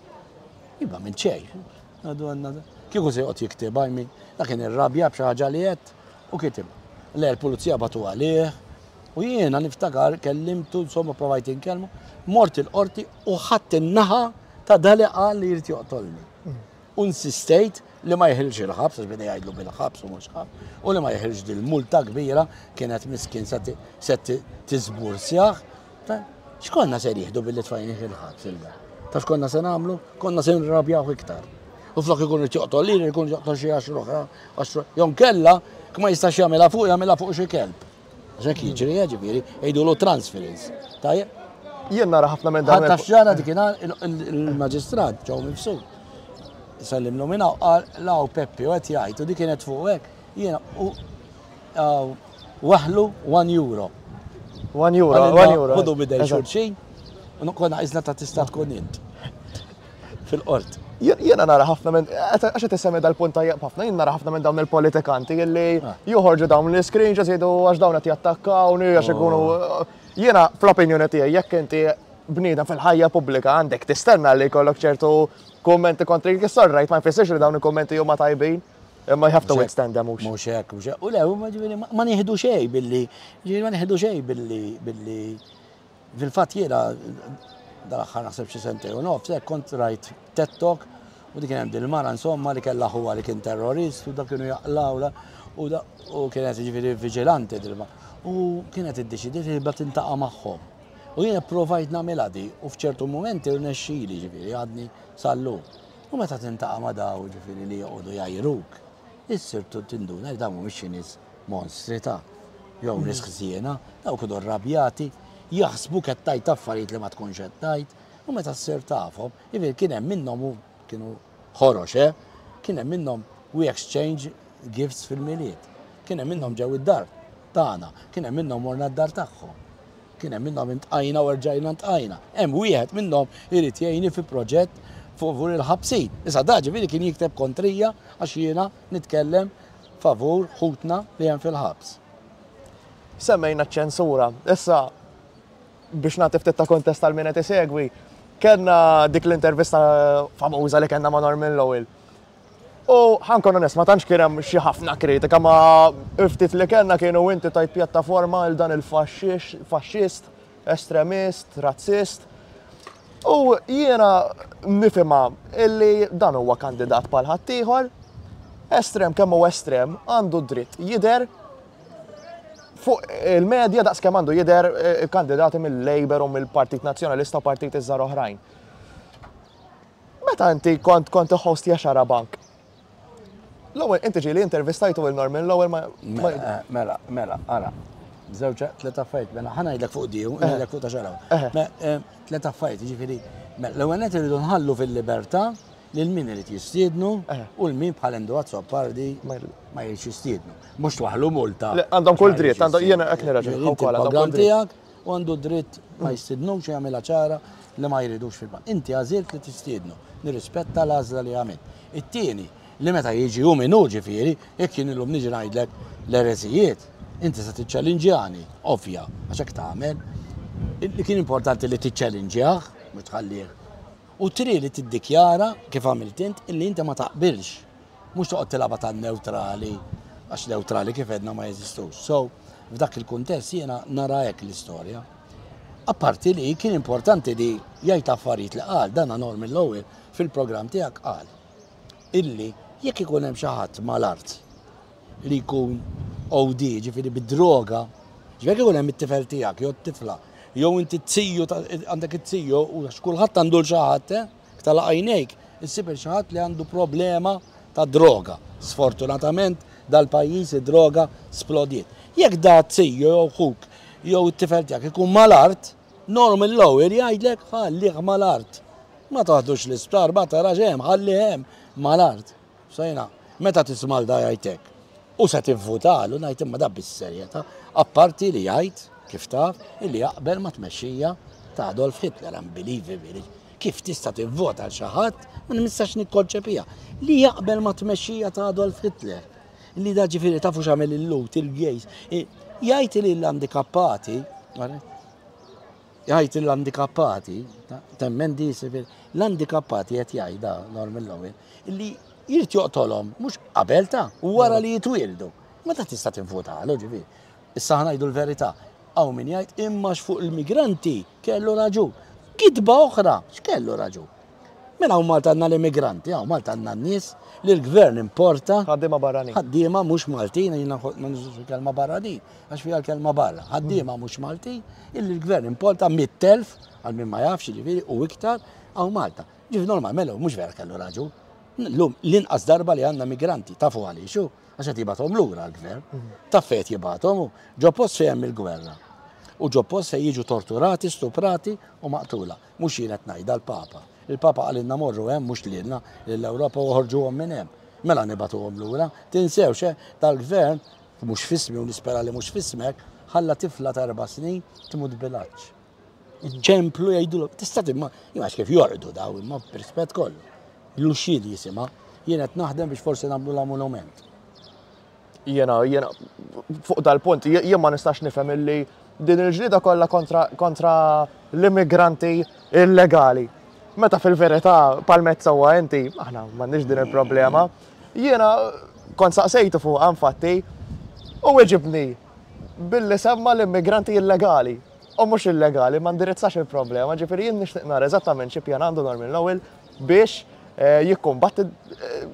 Iba minn xejn. Għadu għandna. Kieku se joqgħod jiktibha, I mean, dak kien irrabja b'xi ħaġa li qed u kitibha. Le l-pulizija batu għalih u jiena niftakar kellimtu, insomma provajt inkellmu, mort il-qorti u ħadd in-naħa ta' dali qal li jrid joqtolni. U insistejt li ma jeħilx il-ħabs, għax beda jgħidlu bil-ħabs u mhux ħabs, u li ma jeħilx dil-multa kbira kienet miskin se tiżbursjah. X'konna se jieħdu billi tfajnih il-ħabs il Ta' x'konna se nagħmlu? Konna se nrabjaw iktar. U flok ikun irid joqtol lili, ikun joqtol xi għaxra oħra, jew nkella, ma jistax jagħmilha fuq, jagħmilha fuq xi kelb. Għax hekk jiġri, ġifieri, jgħidulu transference. Tajjeb? Jien nara ħafna minn dawn. Ħadd x'ġara dikinhar il-maġistrat ġew mifsud. Sellimlu minn hawn qal law Peppi u qed jgħid u dik kienet fuq hekk. Jiena u waħlu 1 euro. 1 euro, 1 euro. Ħudu bidej xulxin, u konna iżna ta' tista' tkun int. Fil-qort. Jiena nara ħafna minn, għax qed issemmi dal-punt tajjeb ħafna, jien nara ħafna minn dawn il-politikanti illi joħorġu dawn l-screenshots jgħidu għax dawn qed jattakkawni għax ikunu. Jiena fl-opinjoni tiegħi jekk inti bniedem fil-ħajja pubblika għandek tistenna li jkollok ċertu kummenti kontri right ma jfissirx li dawn il-kummenti huma tajbin. Imma you have to withstand them mhux. Mhux hekk, mhux hekk. U le, ma ġifieri ma nieħdu xejn billi, ġifieri ma nieħdu xejn billi billi fil-fatt jiena dal-aħħar naħseb xi sentejn u nofs hekk kont rajt TED Talk u dik kien hemm dil-mara insomma li kellha ħuha li kien terrorist u dak kienu jaqlawla u u kienet ġifieri viġilanti dil U kienet iddeċidiet li tibda tintaqa' magħhom. U jiena provajt nagħmilha di u f'ċertu mumenti rnexxieli ġifieri għadni sal-lum. U meta tintaqa' ma' daw ġifieri li joqogħdu jgħajruk, issir tinduna li dawn mhumiex xi nies monstri ta' jew nies ħżiena, daw kienu rrabjati, jaħsbu qed tgħid affarijiet li ma tkunx qed tgħid, u meta ssir tafhom, jiġifieri kien hemm minnhom u kienu ħorox, eh? Kien hemm minnhom We exchange gifts fil-Milied. Kien hemm minnhom ġew id-dar tagħna, kien hemm minnhom morna d-dar tagħhom. Kien hemm minnhom intqajna u rġajna ntqajna. Hemm wieħed minnhom irid jgħinni fi proġett favur il-ħabsin. Issa da ġifieri kien jikteb kontrija għax jiena nitkellem favur ħutna li hemm fil-ħabs. Semmejna ċ-ċensura. Issa biex nagħti ftit ta' kuntest għal min qed isegwi, kellna dik l-intervista famuża li kellna ma' Norman Lowell. U ħa nkun onest, ma tantx kien hemm xi ħafna kritika ma ftit li kellna kienu inti tajt pjattaforma il dan il-faxxist, estremist, razzist. U jiena nifhimha illi dan huwa kandidat bħal ħaddieħor, estrem kemm hu estrem, għandu dritt jidher fuq il-medja daqs kemm għandu jidher eh, kandidati mill-Labour u mill-Partit Nazzjonalista u partiti żgħar oħrajn. Meta inti kont kont hostja Xarabank? L-ewwel inti ġieli intervistajtu lil Norman l-ewwel ma. Mela, mela, mela, ara. Żewġ tliet affarijiet, mela ħa ngħidlek fuq di, u ngħidlek fuq ta' xarabank. Eh, tliet affarijiet, jiġifieri, mela, l-ewwel nett irridu nħallu fil-libertà lil min irid jistiednu u l min bħal Endu Azzopardi ma jridx jistiednu. Mhux twaħlu multa. Għandhom kull dritt, għandhom jiena hekk nirraġuna wkoll għandhom kull dritt. U għandu dritt ma jistidnux u jagħmilha ċara li ma jridux fil-bank. Inti għażilt li tistiednu. Nirrispetta l-għażla li għamilt. It-tieni, li meta jiġi hu min hu ġifieri, jekk jien illum niġi ngħidlek l-ereżijiet, inti se tiċċellinġjani, ovvja, għax hekk tagħmel. Li kien importanti li tiċċellinġjah, mhux tħallih. U tri li tiddikjara, kif għamilt int, illi inti ma taqbilx. Mhux toqgħod tilgħabha tan-newtrali, għax newtrali kif għedna ma jeżistux. So, f'dak il-kuntest jiena nara hekk l-istorja. Apparti li kien importanti li jgħid affarijiet li qal, dan Norman Lowell fil-programm tiegħek qal illi jekk ikun hemm xi ħadd mal-art li jkun OD, ġifieri bid-droga, ġifieri jekk ikun hemm it-tifel tiegħek jew t-tifla, jew inti t-tiju għandek it-tiju u kulħadd għandu l xi ħadd, eh? Tagħlaq għajnejk, issib il xi ħadd li għandu problema ta' droga. Sfortunatament dal-pajjiż id-droga splodiet. Jekk da t-tiju jew ħuk jew it-tifel tiegħek ikun mal-art, Norman Lowell jgħidlek ħallih mal-art. Ma taħdux l-isptar, ma tarax hemm, ħallih hemm mal-art. Sejna, meta tisma' 'l da jgħid hekk, u se tivvutalu, ngħid imma da bis-serjetà, apparti li jgħid, kif taf, illi jaqbel mat-tmexxija ta' Adolf Hitler, unbelievable, kif tista' tivvota għal xi ħadd, ma nistax nikkonċepiha, li jaqbel mat-tmexxija ta' Adolf Hitler. Li da ġifieri tafu x'għamel il-Lhud, il-gays, jgħid li l-handikappati, Jgħid l-handikappati, temmen di l-handikappati qed jgħid da Norman Lowell, li jrid joqtolhom mhux qabel ta' u wara li jitwieldu. Meta tista' tinvutalu ġifieri. Issa ħa ngħidu l-verità. Hawn min jgħid imma fuq il-migranti kellu raġun. Kitba oħra, x'kellu raġun? Mela hawn Malta għandna l-immigranti, hawn Malta għandna n-nies li l-gvern importa. Ħaddiema barranin. Ħaddiema mhux Maltin, jiena ma nużax il-kelma barranin, għax fiha l-kelma barra. Ħaddiema mhux Maltin, illi l-gvern importa 100,000, għal min ma jafx jiġifieri, u iktar hawn Malta. Ġifieri normal, mela mhux vera kellu raġun. Llum l-inqas darba li għandna migranti, tafu għaliex hu? Għax qed jibgħathom lura l-gvern. Taf fejn qed jibgħathom hu? Ġo post fejn hemm il-gwerra. U ġo post fejn jiġu torturati, stuprati u maqtula. Mhux jien qed ngħidha, l-Papa. Il-Papa qalilna morru hemm, mhux lilna, lill-Ewropa u oħorġuhom minn hemm. Mela nibagħtuhom lura. Tinsewx, eh, dal-gvern, mhux f'ismi u nispera li mhux f'ismek, ħalla tifla ta' erba' snin tmut bil-għatx. Iċemplu jgħidulhom, tista' timma, jien kif jorqdu daw imma b'rispett kollu. L-uxxil jisimha, jien qed naħdem biex forsi nagħmlulha monument. Jiena, jiena, fuq dal-punt, jien ma nistax nifhem illi din il-ġlieda kollha kontra, kontra l-immigranti illegali. Meta fil-verità palmezza huwa inti, aħna m'għandniex din il-problema. Jiena kont saqsejtu fuqha infatti u weġibni billi semma l-immigranti illegali. U mhux illegali, ma ndirizzax il-problema, ġifieri jien nixtieq nara eżattament xi pjan għandu Norman Lowell biex eh, jikkumbatti eh,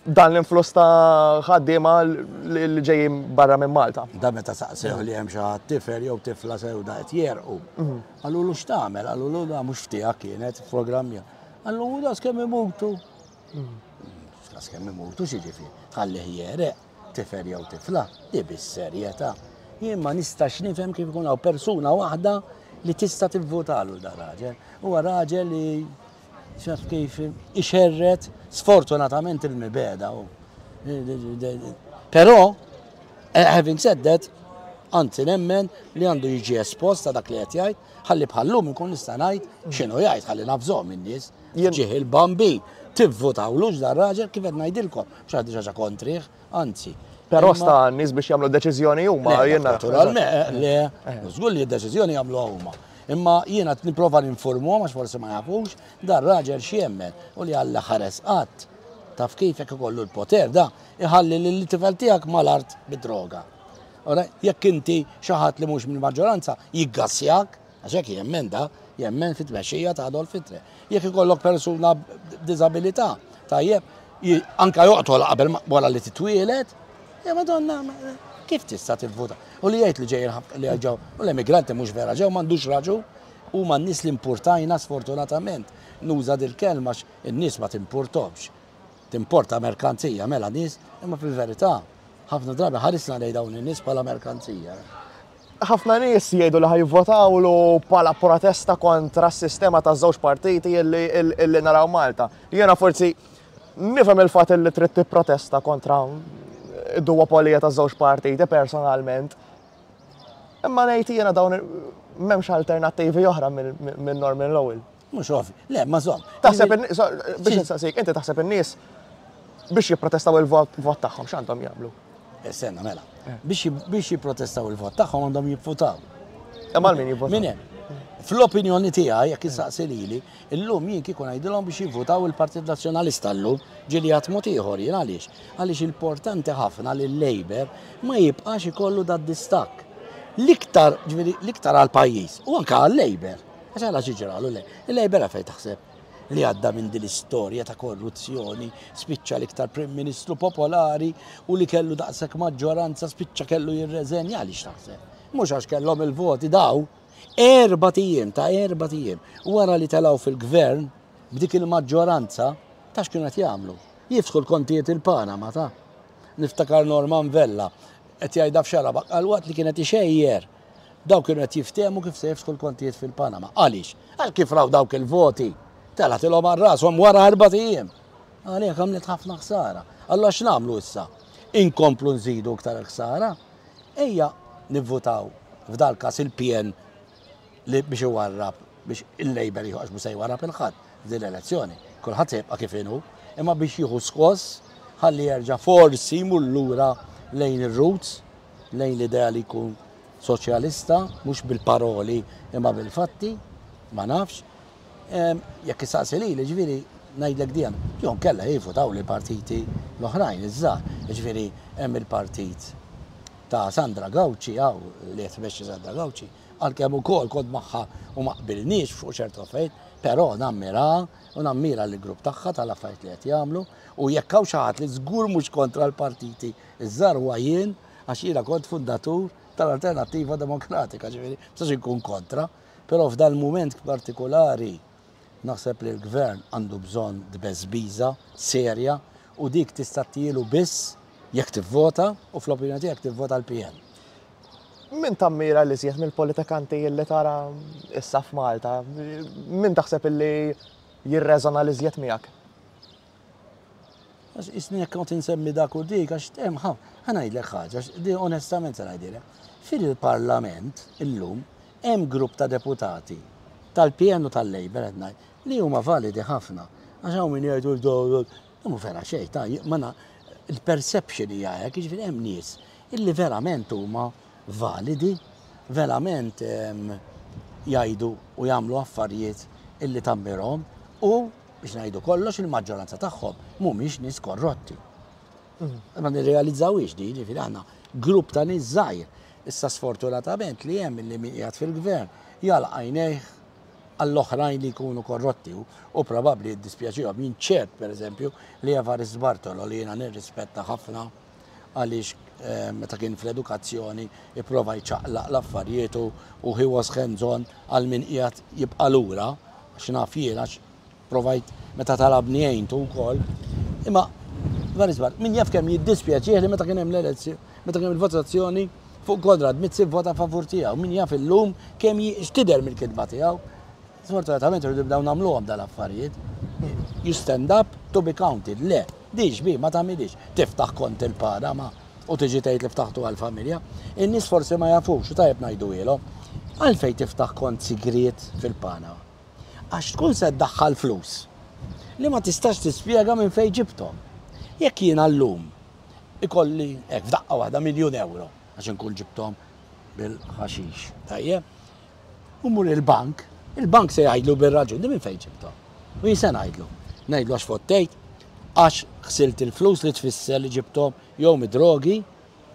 dan l-influss ta' ħaddiema li ġejjin barra minn Malta. Da meta saqsew li hemm xi ħadd tifel jew tifla sewda qed jerqu. Mhm. Qalulu x'tagħmel, qalulu da mhux tiegħek kienet programm. Qalulu da skemm imutu. Mhm. Skemm imutu xi ġifieri, tħallih jereq. tifel jew tifla, di bis-serjetà. Jien ma nistax nifhem kif ikun hawn persuna waħda li tista' tivvutalu da raġel. Huwa raġel li xaf kif ixerret sfortunatament il-mibeda hu. Però, having said that, anzi nemmen li għandu jiġi espost ta' dak li qed jgħid, ħalli bħallum inkun nista' ngħid x'inhu jgħid, ħalli nafżhom in-nies. Ġieħ il-bambi, tivvutawlux dar-raġel kif qed ngħidilkom, mhux għandi xi ħaġa kontrih, anzi. Però sta n-nies biex jagħmlu deċiżjoni huma. Naturalment, le, żgur li d-deċiżjoni jagħmluha huma. Imma jiena qed nipprova ninformuhom għax forsi ma jafux, dar-raġel x'jemmen u li Alla ħares qatt. Taf kif jekk ikollu l-poter da, iħalli lil tifel tiegħek mal-art bid-droga. Ora, jekk inti xi ħadd li mhux mill-maġġoranza jiggassjak, għax hekk jemmen da, jemmen fit-tmexxija ta' Adolf Hitler. Jekk ikollok persuna b'diżabilità, tajjeb, anka joqtol qabel wara li titwielet, ja Madonna, kif tista' tivvota? U li jgħid li ġejjin li ġew, u l-emigranti mhux vera ġew m'għandux raġun, huma n-nies li importajna sfortunatament. Nuża dil-kelma għax in-nies ma timpurtomx. Timporta merkanzija mela nies, imma fil-verità ħafna drabi ħarisna lejn dawn in-nies bħala merkanzija. Ħafna nies jgħidu li ħa jivvotawlu bħala protesta kontra s-sistema ta' żewġ partiti illi naraw Malta. Jiena forsi nifhem il-fatt li trid tipprotesta kontra id-duopolija ta' żewġ partiti personalment. Imma ngħid jiena dawn m'hemmx alternattivi oħra minn Norman Lowell. Mhux ovvi. Le, ma żomm. Taħseb biex insaqsik, inti taħseb in-nies biex jipprotestaw il-vot tagħhom x'għandhom jagħmlu? Senna, mela. Biex jipprotestaw il-vot tagħhom għandhom jivvutaw. Imma min jivvota? Min hemm? Fl-opinjoni tiegħi jekk issaqsi lili, illum jien kieku ngħidilhom biex jivvutaw il-Partit Nazzjonalista llum ġieli għad mod ieħor jien għaliex? Għaliex importanti ħafna li l-Labour ma jibqax ikollu dat distakk. L-iktar, ġifieri, l-iktar għall-pajjiż u anke għal-Labour. Għax għala xi ġralu le. Il-Labour għalfejn taħseb li għadda minn din l-istorja ta' korruzzjoni, spiċċa l-iktar Prim Ministru popolari u li kellu daqshekk maġġoranza spiċċa kellu jirreżenja għaliex taħseb. Mhux għax kellhom il-voti daw, 4 ijiem ta' 4 ijiem wara li telgħu fil-gvern b'dik il-maġġoranza ta' x'kienu qed jagħmlu. Jiftħu l-kontijiet il-Panama ta' niftakar Norman Vella qed jgħidha f'Xarabank għal waqt li kienet ixejjer daw kienu qed jiftehmu kif se jiftħu l-kontijiet fil-Panama. Għaliex? Għal kif raw dawk il-voti telgħetilhom għal rashom wara 4 ijiem. Għalhekk għamlet ħafna ħsara. Allura x'nagħmlu issa? Inkomplu nżidu iktar ħsara? Ejja nivvutaw f'dal każ il-PN li biex iwarrab biex il-Labour jieħu għax mhux se jwarrab il-ħadd f'din l-elezzjoni. Kulħadd se jibqa' kif inhu, imma biex jieħu skoss ħalli jerġa' forsi jmur lura lejn ir-roots, lejn l-idea li jkun soċjalista, mhux bil-paroli imma bil-fatti, ma nafx. Jekk issaqsi lili, ġifieri ngħidlek dijan, jew kella jivvutaw li partiti l-oħrajn, iż-żgħar. Ġifieri hemm il-partit ta' Sandra Gauci, għaw li qed tmexxi Sandra Gauci, għalkemm ukoll kont magħha u ma qbilniex fuq ċertu affarijiet, però nammira u nammira l-grupp tagħha tal-affarijiet li qed jagħmlu u jekk hawn xi ħadd li żgur mhux kontra l-partiti iż-żgħar huwa jien għax jiena kont fundatur tal-Alternattiva Demokratika, ġifieri, ma inkun kontra, però f'dal mument partikolari naħseb li l-gvern għandu bżonn tbeżbiża serja u dik tista' tielu biss jekk tivvota u fl-opinjoni tiegħek tivvota l-PN. Min tammira li żjed mill-politikanti li tara issa f'Malta? Min taħseb illi jirreżona li żjed miegħek? Għax isni jekk kont insemmi dak u dik, għax hemm ħa ngħidlek ħaġa, di onestament se ngħidilek. Fil-Parlament illum hemm grupp ta' deputati tal-PN u tal-Labour qed ngħid li huma validi ħafna. Għax hawn min jgħidu mhu vera xejn, ta' ma il-perception hija hekk, jiġifieri hemm nies illi verament huma validi, verament jgħidu u jagħmlu affarijiet illi tammirhom u biex ngħidu kollox il-maġġoranza tagħhom mhumiex nies korrotti. Ma nirrealizzawix di, ġifieri għandna grupp ta' nies żgħir. Issa sfortunatament li hemm li min qiegħed fil-gvern jagħlaq għajnejh għall-oħrajn li jkunu korrotti u probabbli jiddispjaċihom. Jien ċert, per eżempju, li Evarist Bartolo li jiena nirrispetta ħafna għaliex meta kien fl-edukazzjoni ipprova jċaqlaq l-affarijiet u he was hands-on għal min qiegħed jibqa' lura, għax naf jien għax provajt meta talabni għintu wkoll. Imma Evarist Bartolo, min jaf kemm jiddispjaċih li meta kien hemm l-elezzjoni, meta kien hemm il-votazzjoni fuq Konrad Mizzi vota favur tiegħu, min jaf illum kemm x'tidher mill-kitba tiegħu. Sfortunatament irridu nibdew nagħmluhom dal-affarijiet. You stand up to be counted. Le. Di xbieha ma tagħmilhiex. Tiftaħ kont il-Panama u tiġi tgħid li ftaħtu għall-familja. In-nies forsi ma jafux u tajjeb ngħiduhielhom. Għalfejn tiftaħ kont sigriet fil-Panama? Għax tkun se ddaħħal flus li ma tistax tispjega minn fejn ġibthom. Jekk jiena llum ikolli hekk f'daqqa waħda miljun ewro għax inkun ġibthom bil-ħaxix, tajjeb? U mmur il-bank, il-bank se jgħidlu bir-raġun, di minn fejn ġibthom? U jien se ngħidlu. Ngħidlu għax fottejt, għax ħsilt il-flus li tfisser li ġibthom jew mid-drogi,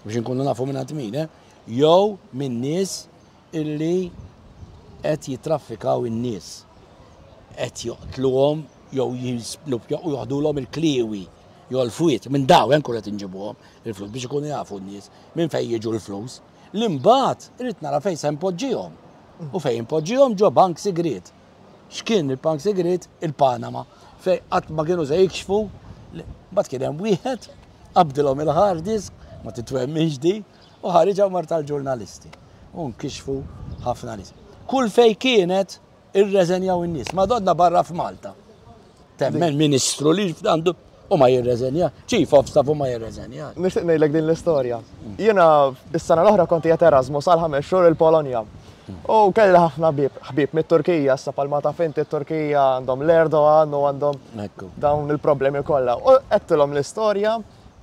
biex inkunu nafu minn għand min, eh? jew minn nies illi qed jitraffikaw in-nies. Qed joqtluhom jew u joħdulhom il-kliewi jew l-fwiet minn dawn hemm qed inġibuhom il-flus biex ikunu jafu n-nies minn fejn jiġu l-flus. Li mbagħad irid nara fejn se npoġġihom. U fejn npoġġihom ġo bank sigriet. X'kien il-bank sigriet? Il-Panama. Fejn qatt ma kienu se jikxfu. Mbagħad kien hemm wieħed qabdilhom il-hard disk, ma titwemminx di, u ħariġha mar tal-ġurnalisti. U nkixfu ħafna nies. Kull fej kienet irreżenjaw in-nies. Madonna barra f'Malta. Temmen ministru li għandu u ma jirreżenja, chief of staff u ma jirreżenja. Nixtieq ngħidlek din l-istorja. Jiena is-sena l-oħra kont qiegħed Erasmus għal ħames xhur il-Polonja. U kelli ħafna ħbieb mit-Turkija, issa palma taf inti t-Turkija għandhom l-Erdogan u għandhom dawn il-problemi kollha. U għedtilhom l-istorja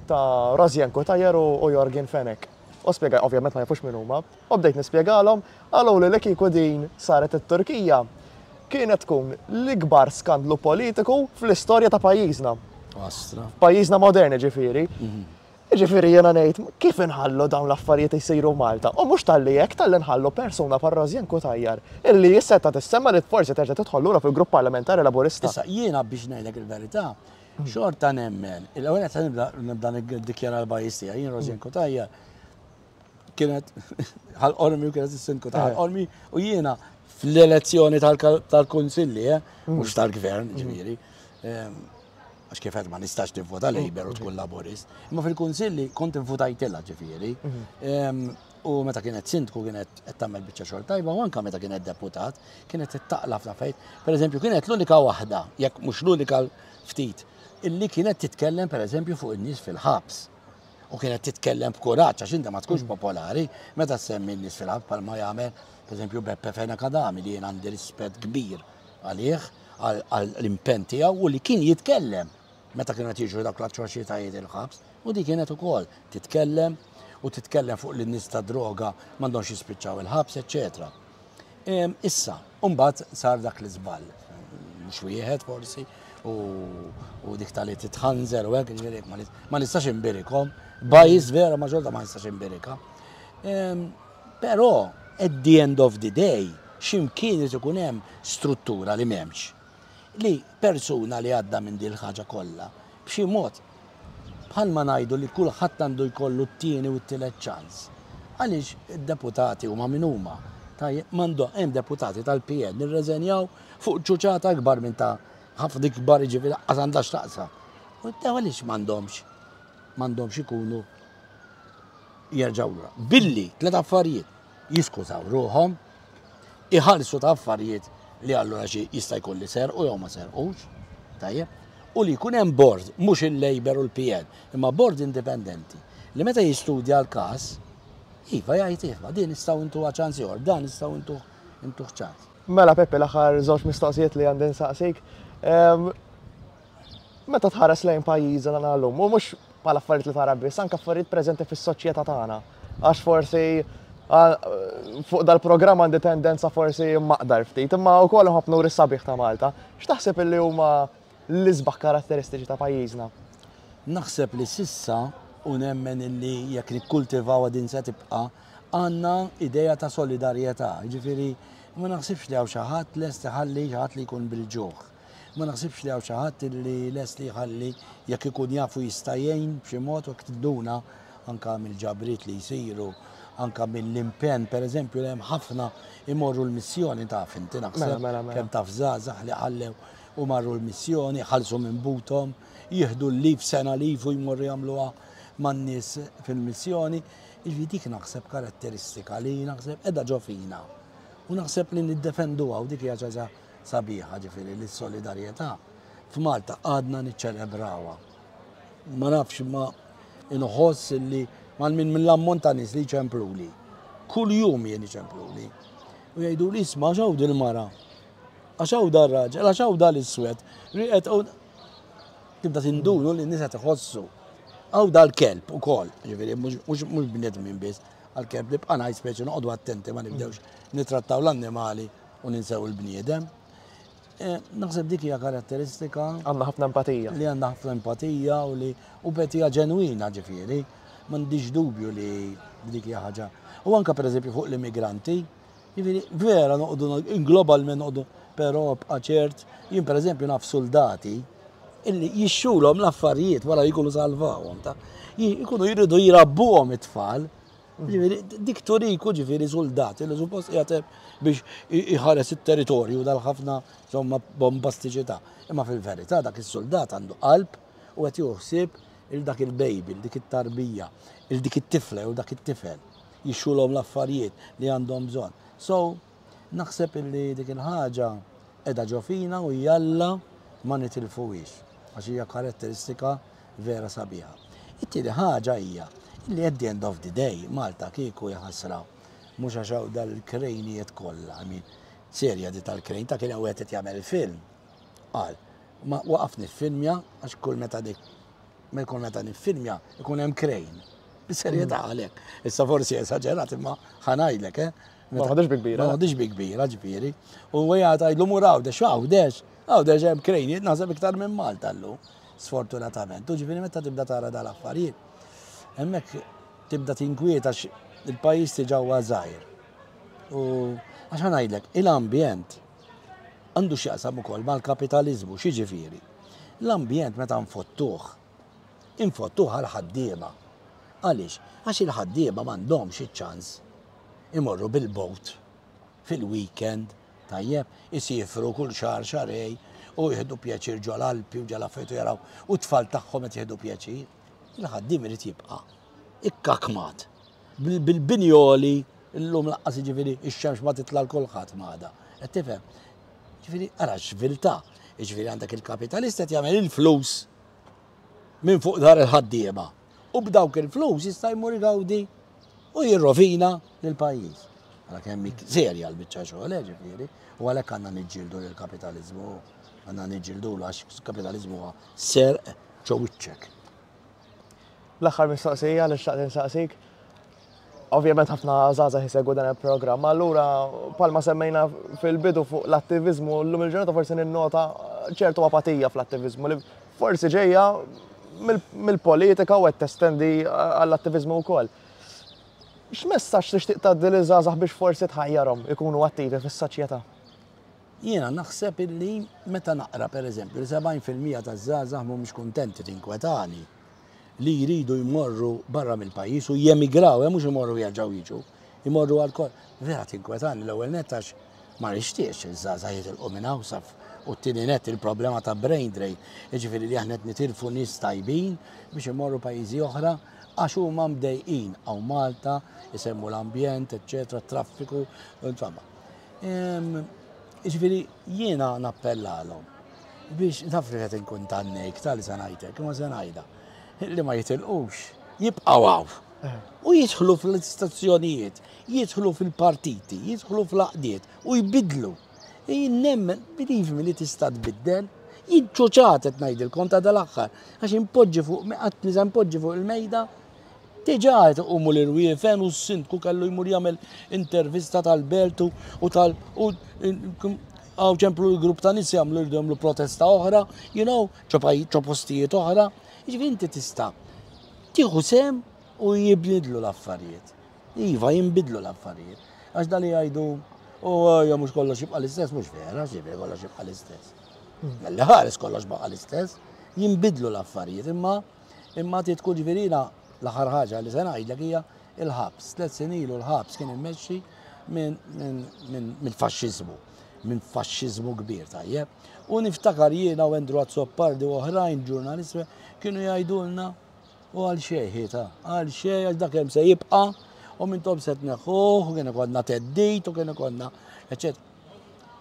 ta' Rosianne Cutajar u Yorgen Fenech. U spjega, ovvjament ma jafux min huma, u bdejt nispjegalhom, qaluli li kieku din saret it-Turkija, kienet tkun l-ikbar skandlu politiku fl-istorja ta' pajjiżna. Astra. Pajjiżna modern ġifieri. Ġifieri jiena ngħid kif inħallu dawn l-affarijiet isiru Malta. U mhux talli hekk talli nħallu persuna bħal Rosianne Cutajar illi seta tissemma li forsi terġa' tidħol lura fil-grupp parlamentari Laburista. Issa jiena biex ngħidlek il-verità, xorta nemmen, il-ewwel qed nibda nibda niddikjara l-bias tiegħi, jien Rosianne Cutajar kienet Ħal Qormi u kienet is-sindku ta' Ħal Qormi u jiena fl-elezzjoni tal-kunsilli, eh, mhux tal-gvern, ġifieri. Għax kif ma nistax nivvota Labour u tkun Laburist. Imma fil-kunsilli kont invutajtilha ġifieri. U meta kienet sindku kienet qed tagħmel biċċa xogħol tajba u anke meta kienet deputat kienet taqla ħafna fejn. Pereżempju kienet l-unika waħda, jekk mhux l-unika ftit, illi kienet titkellem pereżempju fuq in-nies fil-ħabs. U kienet titkellem b'kuraġġ għax inti ma tkunx popolari meta semmi n-nies fil-ħabs bħalma jagħmel pereżempju Beppe Fenech Adami li jien għandi rispett kbir għalih għall-impenn tiegħu u li kien jitkellem meta kienu qed jiġru dawk l-atroċitajiet il-ħabs u di kienet ukoll titkellem u titkellem fuq li n-nies ta' droga m'għandhomx jispiċċaw il-ħabs, eċċetera. Issa, mbagħad sar dak l-iżball. Mhux wieħed forsi, u dik tal-li titħanżer u hekk, ġifieri ma nistax imbirikom. Bias vera ma xorta ma nistax imbirika. Però at the end of the day, x'imkien irid ikun hemm struttura li m'hemmx. Li persuna li għadda minn din il-ħaġa kollha, b'xi mod bħalma ngħidu li kulħadd għandu jkollu t-tieni u t-tielet ċans. Għaliex id-deputati huma min huma. Tajjeb, m'għandhom hemm deputati tal-PN irreżenjaw fuq ċuċata akbar minn ta' ħafna ikbar jiġifieri lanqas għandha x'taqsam. U għaliex m'għandhomx m'għandhomx ikunu jerġgħu lura. Billi tliet affarijiet jiskużaw ruħhom, iħallsu ta' affarijiet li allura xi jista' jkun li serqu jew ma serqux, tajjeb, u li jkun hemm board, mhux il-Labour u l-PN, imma board indipendenti li meta jistudja l-każ, iva jgħid iva, din nistgħu ntuha ċans ieħor, dan nistgħu ntuh ntuh ċans. Mela Peppi l-aħħar żewġ mistoqsijiet li għandi nsaqsik. Meta tħares lejn pajjiżna llum, u mhux bħala affarijiet li tara biss, anke affarijiet preżenti fis-soċjetà tagħna. Għax forsi fuq dal-programm għandi tendenza forsi maqdar ftit, imma wkoll nħobb nuri sabiħ ta' Malta. X'taħseb illi huma l-isbaħ karatteristiċi ta' pajjiżna? Naħseb li s'issa u nemmen illi jekk nikkultivawha din se tibqa' għandna idea ta' solidarjetà. Jiġifieri ma naħsibx li hawn xi ħadd lest iħalli xi ħadd li jkun bil-ġuħ. Ma naħsibx li hawn xi ħadd illi lest li jħalli jekk ikun jafu jista' jgħin b'xi mod u jekk tinduna anka mill-ġabriet li jsiru, anka mill-impenn, pereżempju li hemm ħafna imorru l-missjoni taf inti naħseb mela, mela, mela. kemm taf żgħażagħ li ħallew u marru l-missjoni, ħallsu minn buthom, jieħdu l-leave sena leave u jmorru jagħmluha man-nies fil-missjoni. Jiġifieri dik naħseb karatteristika li naħseb qiegħda ġo fina. U naħseb li niddefenduha u dik hija ħaġa sabiħa ġifieri li s-solidarjetà f'Malta għadna niċċelebrawha. Ma nafx ma inħoss li mal minn mill-ammont ta' nies li jċempluli. Kull jum jien iċempluli. U jgħidu li isma' għax hawn dil-mara. Għax hawn dar-raġel, għax hawn dal-iswed. Riqet tibda tindunu li n-nies qed iħossu. Hawn dal-kelb ukoll, ġifieri mhux bnedmin biss, għall-kelb nibqa' ngħid speċi noqogħdu attenti ma nibdewx nittrattaw l-annimali u ninsew il-bniedem. Eh, naħseb dik hija karatteristika. Għandna ħafna empatija. Li għandna ħafna empatija u li u empatija ġenwina ġifieri. M'għandix dubju li dik hija ħaġa. U anka pereżempju fuq l-immigranti, ġifieri vera noqogħdu globalment noqogħdu, però bqa' ċert, jien pereżempju naf soldati illi jixxulhom l-affarijiet wara li jkunu salvawhom ta' jkunu jridu jrabbuhom it-tfal. Ġifieri dik turiku ġifieri suldat li suppost qiegħed biex iħares it-territorju dal-ħafna insomma bombastiċità. Imma fil-verità dak is-suldat għandu qalb u qed jieħu ħsieb il dak il-baby, il dik it-tarbija, il dik it-tifla jew dak it-tifel. Jixxulhom l-affarijiet li għandhom bżonn. So, Naħseb illi dik il-ħaġa qiegħda ġo fina u jalla ma nitilfuhiex għax hija karatteristika vera sabiħa. It-tieni ħaġa hija illi at the end of the day Malta kieku hija ħasra mhux għax hawn dal-krejnijiet kollha, I mean serja di tal-krejn ta' kien hawn wieħed qed jagħmel film qal ma waqaf niffilmja għax kull meta dik kull meta niffilmja ikun hemm krejn. Bis-serjetà għalhekk. Issa forsi esaġerat imma ħa ngħidlek, eh. Ma ħadix bi kbira. Ma ħadix bi kbira, ġifieri. U għajja tgħidlu mur Għawdex, Għawdex, Għawdex hemm krejnijiet naħseb iktar minn Malta llum, sfortunatament. U ġifieri meta tibda tara dal-affarijiet, hemmhekk tibda tinkwieta għax il-pajjiż diġà huwa żgħir. U għax ħa ngħidlek, il-ambjent għandu x'jaqsam ukoll mal-kapitaliżmu, x'jiġifieri? L-ambjent meta nfottuh, infottuh għall-ħaddiema. Għaliex? Għax il-ħaddiema m'għandhomx iċ-ċans imorru bil-boat fil-weekend, tajjeb, isiefru kull xahar xahrejn u jieħdu pjaċir ġol-Alpi u ġol-affarijiet u jaraw u t-tfal tagħhom qed jieħdu pjaċir. Il-ħaddiem irid jibqa' ikkakmat bil-bini għoli llum laqqas jiġifieri x-xemx ma titla' 'l kulħadd m'għadha. Qed tifhem? Ġifieri ara x'viltà. Jiġifieri għandek il-kapitalist qed jagħmel il-flus minn fuq dar il-ħaddiema u b'dawk il-flus jista' jmur igawdi u jirrovina lill-pajjiż. Ara kemm hi serja l-biċċa xogħol, eh, ġifieri, u għalhekk għandna niġġieldu lill-kapitaliżmu, għandna niġġieldulu għax kapitaliżmu huwa serq ġo wiċċek. L-aħħar mistoqsija li xtaqt insaqsik. Ovvjament ħafna żgħażagħ isegwu dan il-programm, allura palma semmejna fil-bidu fuq l-attiviżmu, llum il-ġurnata forsi ninnota ċertu apatija fl-attiviżmu li forsi ġejja mill-politika u qed testendi għall-attiviżmu wkoll. X'messaġġ tixtieq tgħaddi liż-żgħażagħ biex forsi tħajjarhom ikunu attivi fis-soċjetà? Jiena naħseb illi meta naqra pereżempju li 70% taż-żgħażagħ mhumiex kuntenti tinkwetani li jridu jmorru barra mill-pajjiż u jemigraw, eh, mhux imorru jerġgħu jiġu, imorru għal kol. Vera tinkwetani l-ewwel nett għax ma nixtieqx iż-żgħażagħ jitilqu minn hawn saf u t-tieni nett il-problema ta' brain drain, jiġifieri li aħna qed nitilfu nies tajbin biex imorru pajjiżi oħra għax huma mdejqin hawn Malta, isemmu l-ambjent, eċċetera, traffiku, insomma. Jiġifieri jiena nappellalhom biex naf li qed inkun tannejk tal se ngħidlek, imma se ngħidha li ma jitilqux, jibqgħu hawn. U jidħlu fl-istazzjonijiet, jidħlu fil-partiti, jidħlu fl-għaqdiet u jbidlu. Jien nemmen, believe me li tista' tbiddel. Jien ċuċat qed ngħidilkom ta' dal-aħħar, għax inpoġġi fuq, qatt nisa npoġġi fuq il-mejda, diġà qed iqumu l-irwiefen u s-sindku kellu jmur jagħmel intervista tal-belt u tal u hawn ċemplu l-grupp ta' nies jagħmlu jridu jagħmlu protesta oħra, you know, ġo postijiet oħra. Jiġifieri inti tista' tieħu sehem u jibdlu l-affarijiet. Iva, jinbidlu l-affarijiet. Għax dali jgħidu, u ja mhux kollox jibqa' l-istess, mhux vera, ġifieri kollox jibqa' l-istess. Malli ħares kollox baqa' l-istess, jinbidlu l-affarijiet, imma imma trid tkun ġifieri jiena l-aħħar ħaġa li se ngħidlek hija il-ħabs. Tlet snin ilu l-ħabs kien immexxi minn faxxiżmu, minn faxxiżmu kbir tajjeb. U niftakar jiena u Andrew Azzopardi u oħrajn ġurnalisti kienu jgħidulna u għal xejn ta' għal xejn għax dak hemm se jibqa' u mintom se tneħħuh u kien ikollna theddid u kien ikollna eċċetera.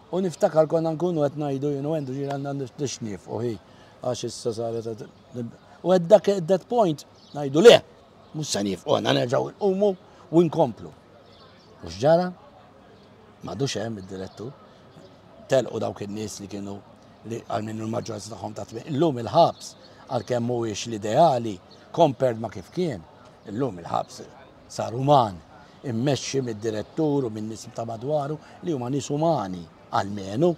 U niftakar konna nkunu qed ngħidu jien u Andrew ġieli għandna nixnief u hi għax issa saret. U at dak at that point ngħidu le, mhux se niefqu għandna nerġgħu nqumu u nkomplu. U x'ġara? M'għadux hemm id-direttur. Telqu dawk in-nies li kienu li għal minnu l-maġġoranza tagħhom ta' Illum il-ħabs għalkemm mhuwiex l-ideali compared ma' kif kien, illum il-ħabs sar uman, immexxi mid-direttur u min-nies ta' madwaru li huma nies umani almenu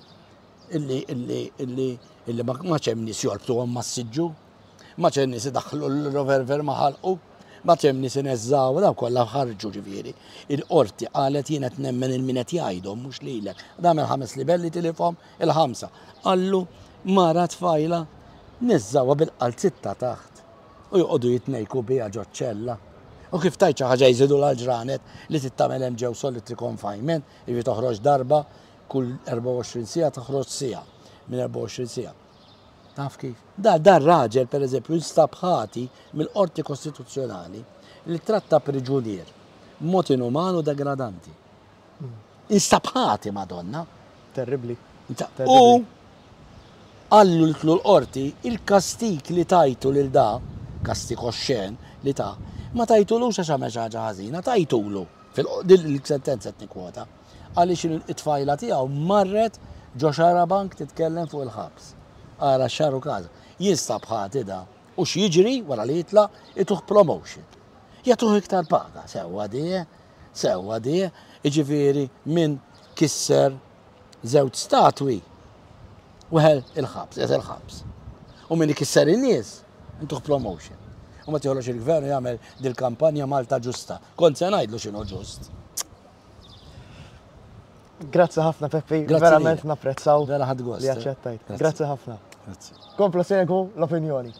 illi illi illi illi ma hemm nies jorbtuhom mas-siġġu, ma hemm nies idaħħlu l-revolver ma' ħalqu, ma hemm nies ineżżaw, daw kollha ħarġu ġifieri. Il-qorti qalet jien qed nemmen il min qed jgħidhom mhux lilek. Dam il-ħames livelli tilifhom il-ħamsa. Qallu mara tfajla neżżawha bil-qalzitta taħt u joqogħdu jitnejku biha ġoċ-ċella. U kif tgħid xi ħaġa jżidulha l-ġranet li trid tagħmel hemm ġew solitary confinement, jiġifieri toħroġ darba kull 24 siegħa toħroġ siegħa minn 24 siegħa. Taf kif? Da dar raġel pereżempju instab ħati mill-Qorti Kostituzzjonali li tratta priġunier b'mod inuman u degradanti. Instab ħati Madonna. Terribbli. U qallu l l-qorti il-kastik li tajtu lil da, kastik oxxen li ta, ma tajtulux għax għamel xi ħaġa ħażina, tajtulu. Fil-sentenza qed nikkwota. Għaliex it-tfajla tiegħu marret ġo xarabank titkellem fuq il-ħabs. Ara x'għaru każ. Jinstab ħati da. U x'jiġri wara li jitlaq ituh promotion. Jagħtuh iktar paga. Sewwa di, eh? Sewwa di, eh? Jiġifieri min kisser żewġ statwi weħel il-ħabs, qiegħed il-ħabs. U min ikisser in-nies intuh promotion. U meta joħroġ il-gvern jagħmel dil-kampanja Malta ġusta. Kont se ngħidlu x'inhu ġust. Grazzi ħafna Peppi, verament napprezzaw. Vera ħadd gost. Li aċċettajt. Grazzi ħafna. Grazzi. Komplu segwu l-opinjoni.